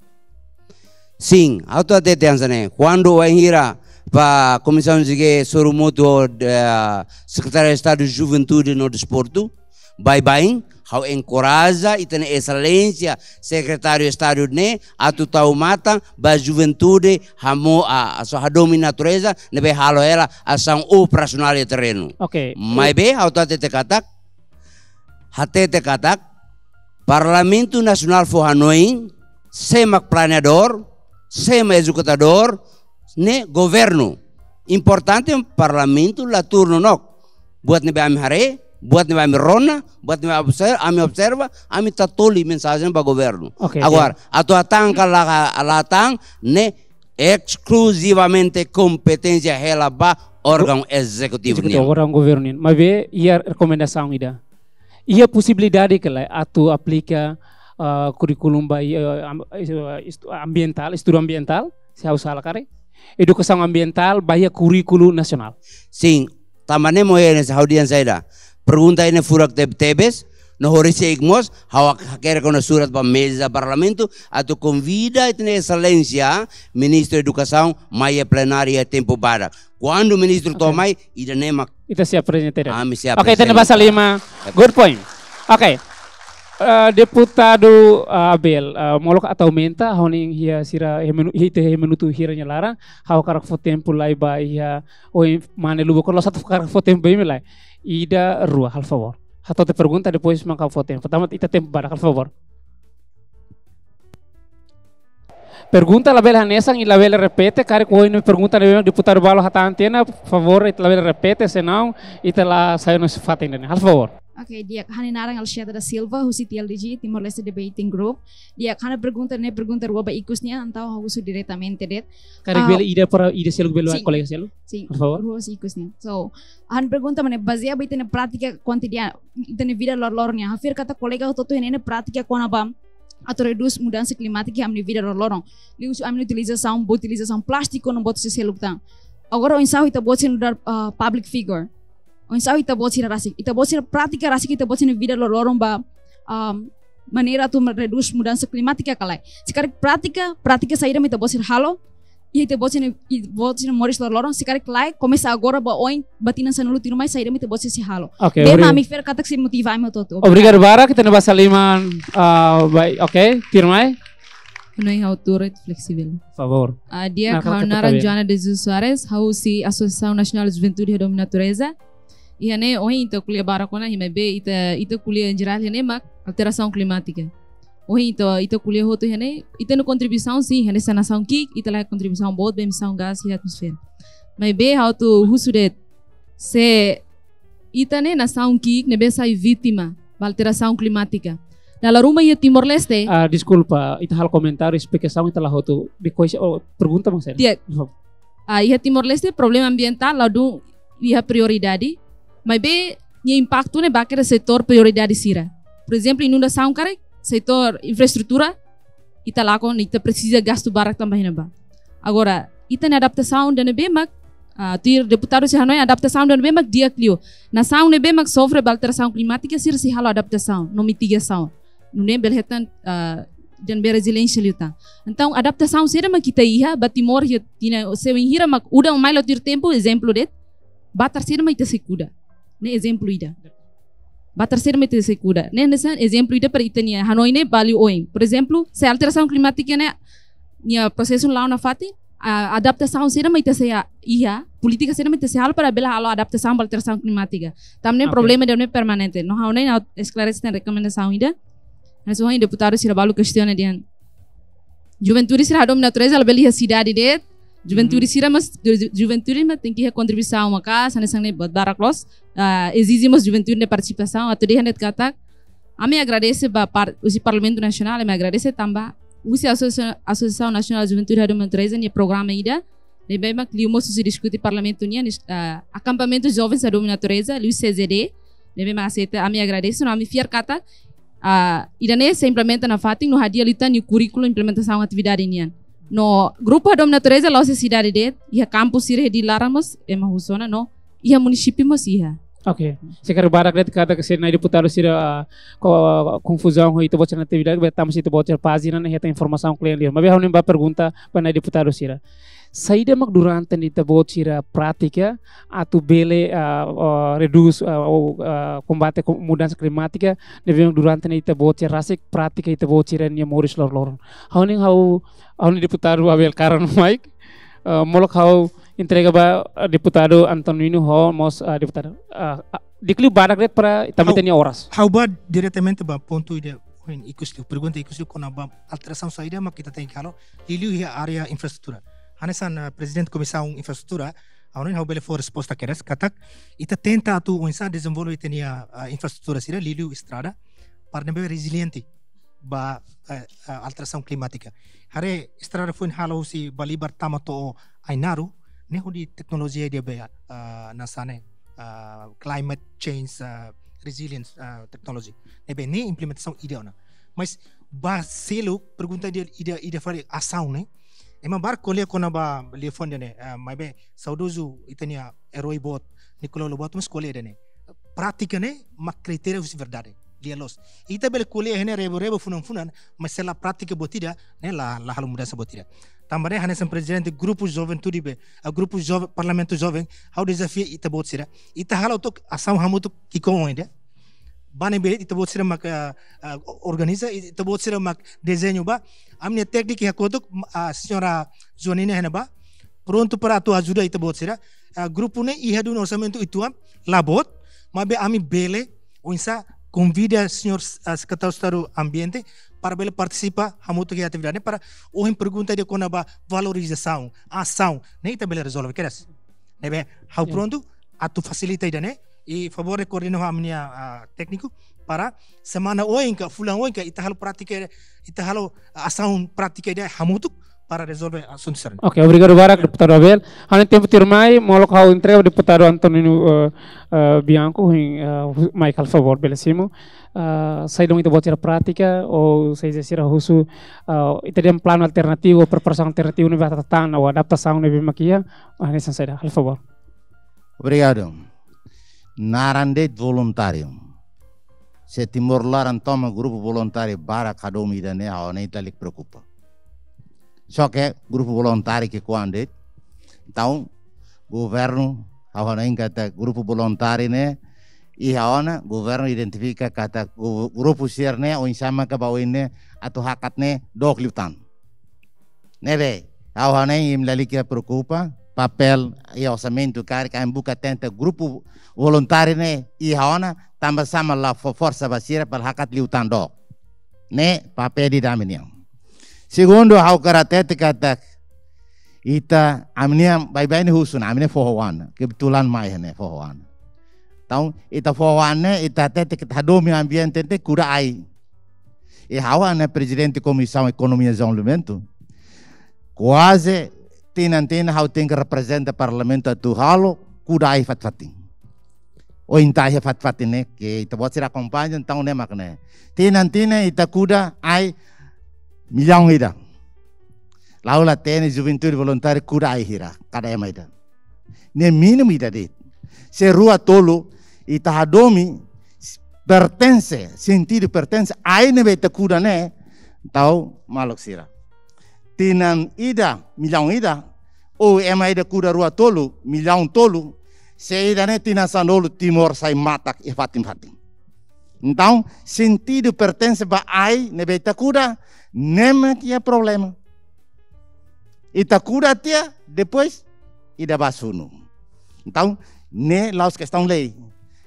Sin, ha'u atu hatete hanesan ne'e. Kuandu wainhira ba Komisaun G soru hamutuk ho, eh, Sekretáriu Estadu Juventude no Desportu, baibain, ha'u enkoraja ita-nia Exelénsia Sekretáriu Estadu ne'e atu tau matan ba juventude hamo a, a so hadomi natureza, ne'ebé halo hela asaun operasionál iha terrenu. Oke. Maibé, ha'u atu hatete katak, hatete katak, Parlamentu Nasionál fó hanoin, sé mak planeadór, sé mak ezekutadór, ne'e governu. Importante Parlamentu la tuur nonook. Buat ne'ebé ami haree, Buat ne'ebé ami rona, buat ne'ebé obser-, ami observa, ami tatoli mensajen ba governu. Oke, agora, oke. Atu hatán ka la, la hatán, ne'e eskluzivamente kompeténsia hela ba órgaun ezekutivu nian. Ezekutivu, órgaun governu nian. Maibé iha rekomendasaun ida. Iha posibilidade ka lae atu aplika, ah, kurríkulu ba iha, ah, am-, eh, estu-, ambientál, estudu ambientál, se ha'u sala karik. Edukasaun ambientál ba iha kurríkulu nasionál. Sin, tanba ne'e mak ha'u dehan saida. Pergunta ne'e furak teb-, tebes, no horisehik mós, ha'u hakerek ona surat ba meza Parlamentu, atu konvida ita-nia Exelénsia, Ministru Edukasaun, mai iha plenária tempu badak. Kuandu ministru to'o mai, ida-ne'e mak ita sei aprezenta. Ami sei aprezenta. Oke, ita-nia basa liman. Good point. Oke. Eh, Deputadu, eh, Abel, eh, molok atu aumenta, ha'u hanoin iha sira, iha minu-, iha ita iha minutu hira nia laran, ha'u hakarak fó tempu lai ba iha, ohin mane Luba Kor, la'ós atu hakarak fó tempu ba imi lai. Ida, rua, halo favór. Hato'o tiha pergunta, depois maka fó tempu. Pertama, ita tempu badak, halo favór. Pergunta labele hanesan, i labele repete, karik ohin pergunta ne'ebé deputadu balu hatán tiha ona, favór, ita labele repete, senão, ita la sai husi fatin ida-ne'e. Halo favór. Oke, di'ak, ha'u-nia naran Alcieta da Silva, husi T L D G, Timor-Leste Debating Group. Di'ak, ha'u-nia pergunta ne'e pergunta rua ba ikus nian, entaun ha'u husu diretamente de'it. Karik, ah, bele ida para ida seluk bele, sin, kolega seluk? Sin, favór. Rua husi ikus nian. So, ha'u-nia pergunta mak ne'e bazeia ba ita-nia prátika kotidiana, ita-nia vida lor-, loroloron nian. Ha'u fiar katak kolega hotu-hotu iha ne'e prátika kona-ba atu redús mudansa klimátika iha ami-nia vida loroloron. Liuhusi ami-nia utilizasaun, boot utilizasaun plástiku no boot seluk tan. Agora oinsá ita-boot sira nu'udar, ah, public figure. Oinsá ita-boot sira rasik. Ita-boot sira prátika rasik, ita-boot sira-nia vida loroloron ba, ah, maneira atu redús mudansa klimátika ka lae. Se karik prátika, prátika saida mak ita-boot sira halo, iha ita-boot sira-nia, ita-boot sira-nia moris loroloron, se karik lae, komesa agora ba oin, ba tinan sanulu tuirmai, saida mak ita-boot sira sei halo. Oke, ne'e mak obri-, ami fiar katak sei motiva ami hotu-hotu. Obrigadu. Obrigadu barak, ita-nia basa liman, ah, baik, oke, tuirmai. Ha'u-nia ha'u turet fleksibel. Favór. Ah, di'ak, ha'u-nia naran Joana de Jesus Soares, ha'u husi Asosiasaun Nasionál Juventude Hadomi Natureza. Iha ne'e ohin ita ko'alia barak ona, i maibé ita, ita ko'alia em geral iha ne'e mak alterasaun klimátika. Ohin ita, ita ko'alia hotu iha ne'e, ita-nia kontribuisaun sin, hanesan nasaun ki'ik, ita la iha kontribuisaun boot ba emissão gás iha atmosfera. Maibé ha'u atu husu de'it, se ita ne'e nasaun ki'ik ne'ebé sai vítima ba alterasaun klimátika. Dala ruma iha Timor-Leste. Ah, deskulpa, ita halo komentáriu, esplikasaun ita la hotu. Depois, oh, pergunta mak saida? Di'ak. Por favór. Ah, iha Timor-Leste problema ambientál ladún iha prioridade, maibé nia impaktu ne'e ba iha setór prioridade sira. Por ezemplu, inundasaun karik, setór infraestrutura, ita lakon, ita presiza gastu barak tanba iha ne'ebá. Agora, ita-nia adaptasaun ida ne'ebé mak, ah, tuir deputadu sira hanoin adaptasaun ida ne'ebé mak di'ak liu. Nasaun ne'ebé mak sofre ba alterasaun klimátika sira sei halo adaptasaun no mitigasaun. Nune'e bele hetan, ah, ida ne'ebé reziliénsia liután. Entaun, adaptasaun saida mak ita iha ba Timor iha tinan, se wainhira mak udan mai la tuir tempu, ezemplu de'it, batar saida mak ita sei kuda. Ne'e ezemplu ida. Batar saida mak ita sei kuda. Ne'e hanesan ezemplu ida para ita-nia hanoin ne'e ba liu oin. Por ezemplu, se alterasaun klimátika ne'e nia prosesu la'o nafatin, ah, adaptasaun saida mak ita sei iha, polítika saida mak ita sei halo para bele halo adaptasaun ba alterasaun klimátika. Tanba ne'e, oke, problema ida ne'e permanente. No ha'u ne'e ha'u esklarese tan rekomendasaun ida. Hanesan ohin deputadu sira balu kestiona dehan juventude sira hadomi natureza labele iha sidade de'it. Juventude, mhm, sira mós, ju-, ju-, juventude mak tenke iha kontribuisaun maka'as, hanesan ne'e buat barak loos. Ah, ezije mós juventude nia partisipasaun, atu dehan de'it katak, ami agradese ba par-, husi Parlamentu Nasionál, ami agradese tanba husi Asosia-, Asosiasaun Nasionál Juventude Hadomi Natureza nia programa ida ne'ebé mak liu mós husi diskute Parlamentu nian, ah, akampamentu jovens hadomi natureza, liu C J D, ne'ebé mak aseita, ami agradese, no ami fiar katak, ah, ida-ne'e sei implementa nafatin, no hadi'a liután iha kurríkulu implementasaun atividade nian. No grupu hadomi natureza la'ós iha sidade de'it, iha kampus sira iha Dili laran mós ema husu ona, no iha munisípiu mós iha. Oke. Se karik barak de'it katak se nai deputadu sira, ah, ko-, konfuzaun ho ita-boot sira-nia atividade, be tama se ita-boot sira pájina ne'e hetan informasaun klean liu. Maibé ha'u-nia ba pergunta ba nai deputadu sira. Saida mak durante ne'e ita-boot sira pratika atu bele, ah, ah, redús, ah, ou, ah, kombate ko-, mudansa klimátika, ne'ebé mak durante ne'e ita-boot sira rasik pratika ita-boot sira-nia moris loroloron. Ha'u-nia, ha'u, ha'u-nia deputadu Abel Karan Mike, ah, molok ha'u entrega ba, ah, deputadu Antonino ho mós, ah, deputadu, ah, ah, di'ak liu badak de'it para ita-nia oras. Ha'u bá diretamente ba pontu ida, ohin ikus liu, pergunta ikus liu kona-ba alterasaun saida mak ita tenke halo, liuliu iha área infraestrutura. Hanesan, ah, Prezidente Komisaun Infraestrutura, Ha'u hanoin ha'u bele fó resposta kedas katak ita tenta atu oinsá dezenvolve ita-nia, ah, infraestrutura sira liuliu estrada para ne'ebé reziliente ba, eh, eh, alterasaun klimátika. Haree estrada foin halo husi Balibar tama to'o Ainaro, ne'e hodi teknolojia ida be, ah, hanesan ne'e, ah, climate change, ah, resilience, ah, technology. Ne'ebé ne'e implementasaun ida ona. Mas ba seluk pergunta ida, ida, ida fali asaun ne'e. Ema barak ko'alia kona-ba liafuan ida-ne'e, ah, maibé saudozu ita-nia eroi boot, Nicolau Lobato mós ko'alia ida-ne'e. Prátika ne'e mak kritéria husi verdade. Lia loos. Ita bele ko'alia iha ne'e rebo-rebo funan-funan, mas se la prátika buat ida, ne'e la, la halo mudansa buat ida. Tanba ne'e hanesan prezidente grupu juventude be, ah, grupu jove-, parlamentu joven, ha'u dezafia ita-boot sira. Ita hala'o took asaun hamutuk ki'ikoan ida. Ba ne'ebé ita-boot sira mak, ah, ah, organiza, ita-boot sira mak dezeñu ba. Ami-nia tékniku iha kotuk, ah, señora Joanina iha ne'ebá. Prontu para atu ajuda ita-boot sira. Ah, grupu ne'e iha duni orsamentu uitoan, la boot, maibé ami bele, oinsá konvida señór, ah, Sekretáriu Estadu Ambiente para bele partisipa hamutuk iha atividade ne'e para ohin pergunta ida kona-ba valorizasaun, asaun, ne'e ita bele rezolve kedas. Ne'ebé, ha'u Ya. prontu atu fasilita ida-ne'e, i favór de koordina ho ami-nia, ah, tékniku para semana oin ka, fulan oin ka, ita halo prátika, ita halo asaun prátika ida hamutuk para rezolve asuntu sira-ne'e. Oke, obrigadu barak, Deputadu Abel. Ha'u-nia tempu tuirmai, molok ha'u entrega Deputadu Antonino, eh, eh, Bianco, hein, eh, hu-, mai halo favór, bele simu. Eh, saida mak ita-boot sira prátika, ou seja, sira husu, eh, ita dehan planu alternativu, preparasaun alternativu ne'ebé atu tama, ou adaptasaun ne'ebé mak iha, ah, hanesan saida, halo favór. Obrigadu. Naran de'it voluntáriu. Se Timor laran tomak grupu voluntáriu barak hadomi ida-ne'e, ha'u hanoin ita lalika preokupa. Só ke grupu voluntáriu ki'ikoan de'it. Entaun, governu, ha'u hanoin katak grupu voluntáriu ne'e, iha ona, governu identifika katak gru-, grupu sira-ne'e, oinsá maka ba oin ne'e, atu hakat ne'e, dook liután. Ne'ebé, ha'u hanoin imi lalika preokupa, papél iha orsamentu karik ami buka tenta grupu voluntáriu ne'e iha ona, tanba sá mak la fó forsa ba sira para hakat liután dook. Ne'e papél ida ami-nian. Segundu, ha'u hakarak hatete katak ita ami-nian baibain husu ona, ami-nian foho-oan, kebetulan mai ne'e foho-oan. Entaun, ita foho-oan ne'e, ita hatete katak hadomi ambiente ne'e kuda ai. I ha'u hanesan prezidente Komisaun Ekonomia Dezenvolvimentu, kuaze tinan-tinan ha'u tenke reprezenta Parlamentu atu halo kuda ai fatin-fatin. Ohin ita iha fatin-fatin ne'e, ke ita-boot sira akompaña, entaun ne'e mak ne'e. Tinan-tinan ita kuda ai millaun ida. La'o la hatene juventude voluntáriu kuda ai hira, kada ema ida. Ne'e mínimu ida de'it. Se rua tolu, ita hadomi, pertense, sentidu pertense, ai ne'ebé ita kuda ne'e, entaun maluk sira. Tinan ida, millaun ida, ou ema ida kuda rua tolu, millaun tolu, se ida-ne'e tinan sanulu Timor sai matak iha fatin-fatin. Entaun, sentidu pertense ba ai ne'ebé ita kuda, ne'e mak iha problema. Ita kuda tiha, depois ida bá sunu. Entaun, ne'e la'ós kestaun lei.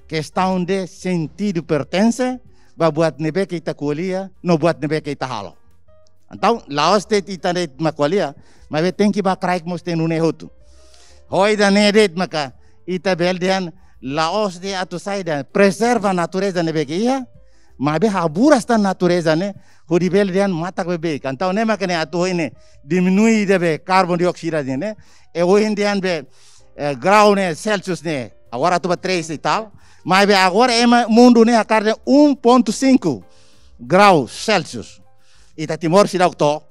Kestaun de sentidu pertense ba buat ne'ebé ke ita ko'alia, no buat ne'ebé ke ita halo. Entaun, la'ós de'it ita de'it mak ko'alia, maibé tenke ba kraik mós iha nune'e hotu. Ho ida-ne'e de'it maka ita bele dehan la'ós de'it atu saida, prezerva natureza ne'ebé ke iha, maibé haburas tan natureza ne'e, hodi bele dehan matak beibeik. Entaun ne'e maka ne'e atu ohin ne'e, diminui ida be karbon dioksida ne'e, e ohin dehan be, eh, grau ne'e, Celsius ne'e, agora atu ba três e tal, maibé agora ema mundu ne'e hakarak dehan um ponto cinco graus Celsius. Ita Timor seidauk to'o.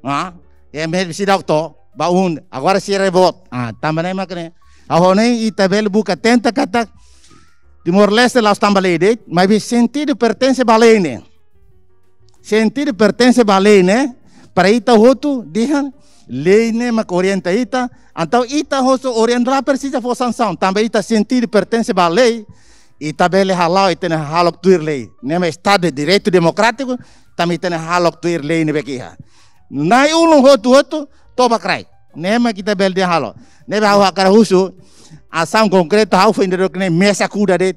Ah, ema seidauk to'o. Ba un, agora sira reboot. Ah, tanba ne'e mak ne'e. Ha'u hanoin ita bele buka tenta katak Timor-Leste la'ós tanba lei de'it, maibé sentidu pertense ba lei ne'e. Sentidu pertense ba lei ne'e, para ita hotu dehan lei ne'e mak orienta ita, entaun ita hotu orienta, la presiza fó sansaun, tanba ita sentidu pertense ba lei, ita bele hala'o, ita-nia hahalok tuir lei. Ne'e mak Estadu de Direitu Demokrátiku, tanba ita-nia hahalok tuir lei ne'ebé ke iha. Na'i-ulun hotu-hotu, toba kraik. Ne'e mak ita bele dehan halo. Ne'ebé ha'u hakarak husu, asaun konkretu ha'u fó indero ke ne'e mesa kuda de'it.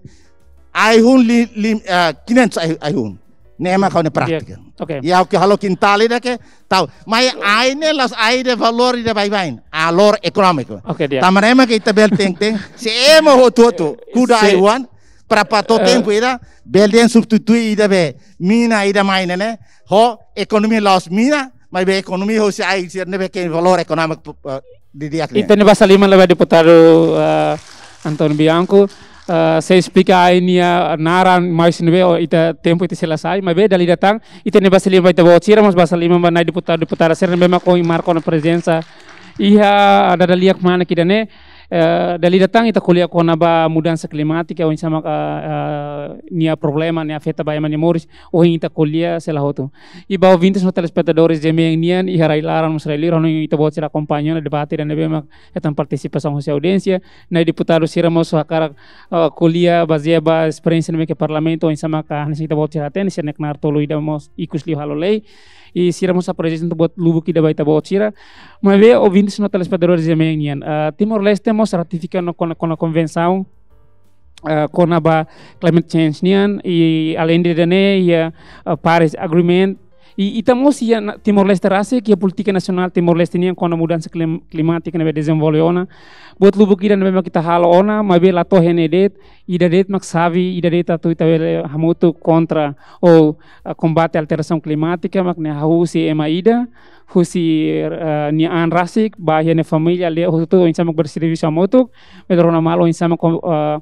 Ai-hun li, li, ah, quinhentos ai, ai-hun. Ne'e mak ha'u-nia prátika. Oke. Ya, oke, halo kintal ida ke tau. Mai ai ne'e la'ós ai ida valór ida baibain. Valór ekonómiku. Oke, di'ak. Tanba ne'e mak ita bele hatene, se ema hotu-hotu kuda ai-oan, para pa to'o tempu ida, bele dehan substitui ida be mina ida mai ne'e, ho ekonomia la'ós mina, maibé ekonomia hosi ai sira ne'ebé ke valór ekonómiku, eh, didi'ak nian. Ita-nia basa liman ba deputadu, eh, António Bianco, eh, sei esplika ai nia naran mais ne'ebé, o ita tempu ita sei la sai, maibé dala ida tan, ita-nia basa liman ba ita-boot sira, mós basa liman ba na'i deputadu, deputada sira ne'ebé mak ohin marka ona prezensa iha dada lia kmanek ida-ne'e, eh, dala ida tan ita ko'alia kona-ba mudansa klimátika, oinsá mak, eh, eh, nia problema, nia afeta ba ema nia moris, ohin ita ko'alia sei la hotu. I ba ouvintes no telespetadores GMN nian, iha rai-laran mós rai-li'ur, ha'u hanoin ita-boot sira akompaña ona debate ida ne'ebé mak hetan partisipasaun hosi audiénsia, na'i deputadu sira mós hakarak, eh, ko'alia bazeia ba esperiénsia ne'ebé ke Parlamentu, oinsá mak hanesan ita-boot sira hatene, sira-nia knaar tolu ida mós ikus liu halo lei, i sira mós aprezenta buat lubuk ida ba ita-boot sira. Maibé ouvintes no telespetadores GMN nian, eh, Timor-Leste mós ratifika ona, kona, kona konvensaun, eh, kona-ba climate change nian, i aleinde ida-ne'e iha, eh, Paris Agreement. I ita mós iha na-, Timor-Leste rasik, iha polítika nasionál Timor-Leste nian kona mudansa klim-, klimátika ne'ebé dezenvolve ona. Buat lubuk ida ne'ebé mak ita halo ona, maibé la to'o iha ne'e de'it, ida de'it mak xave, ida de'it atu ita bele hamutuk kontra ou, eh, kombate alterasaun klimátika, mak ne'e hahú husi ema ida, husi, eh, nia an rasik, ba iha nia família, aldeia hotu, oinsá mak bele servisu hamutuk, bele rona malu oinsá mak, eh,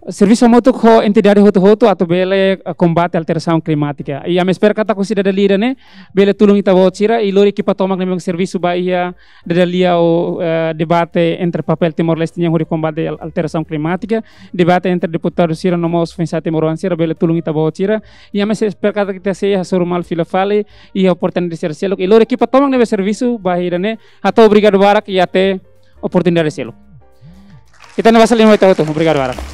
servisu hamutuk ho entidade hotu-hotu atu bele, eh, kombate alterasaun klimátika. I ami espera katak husi dada lia ida-ne'e bele tulun ita-boot sira, i lori ekipa tomak ne'ebé mak servisu ba iha dada lia ou, eh, debate entre papél Timor-Leste nian hodi kombate al-, alterasaun klimátika, debate entre deputadu sira no mós foin-sa'e timoroan sira bele tulun ita-boot sira. I ami espera katak ita sei hasoru malu fila fali iha oportunidade sira seluk. I lori ekipa tomak ne'ebé servisu ba iha ida-ne'e, hato'o obrigadu barak i até oportunidade seluk. Ita-nia basa liman ba ita hotu. Obrigadu barak.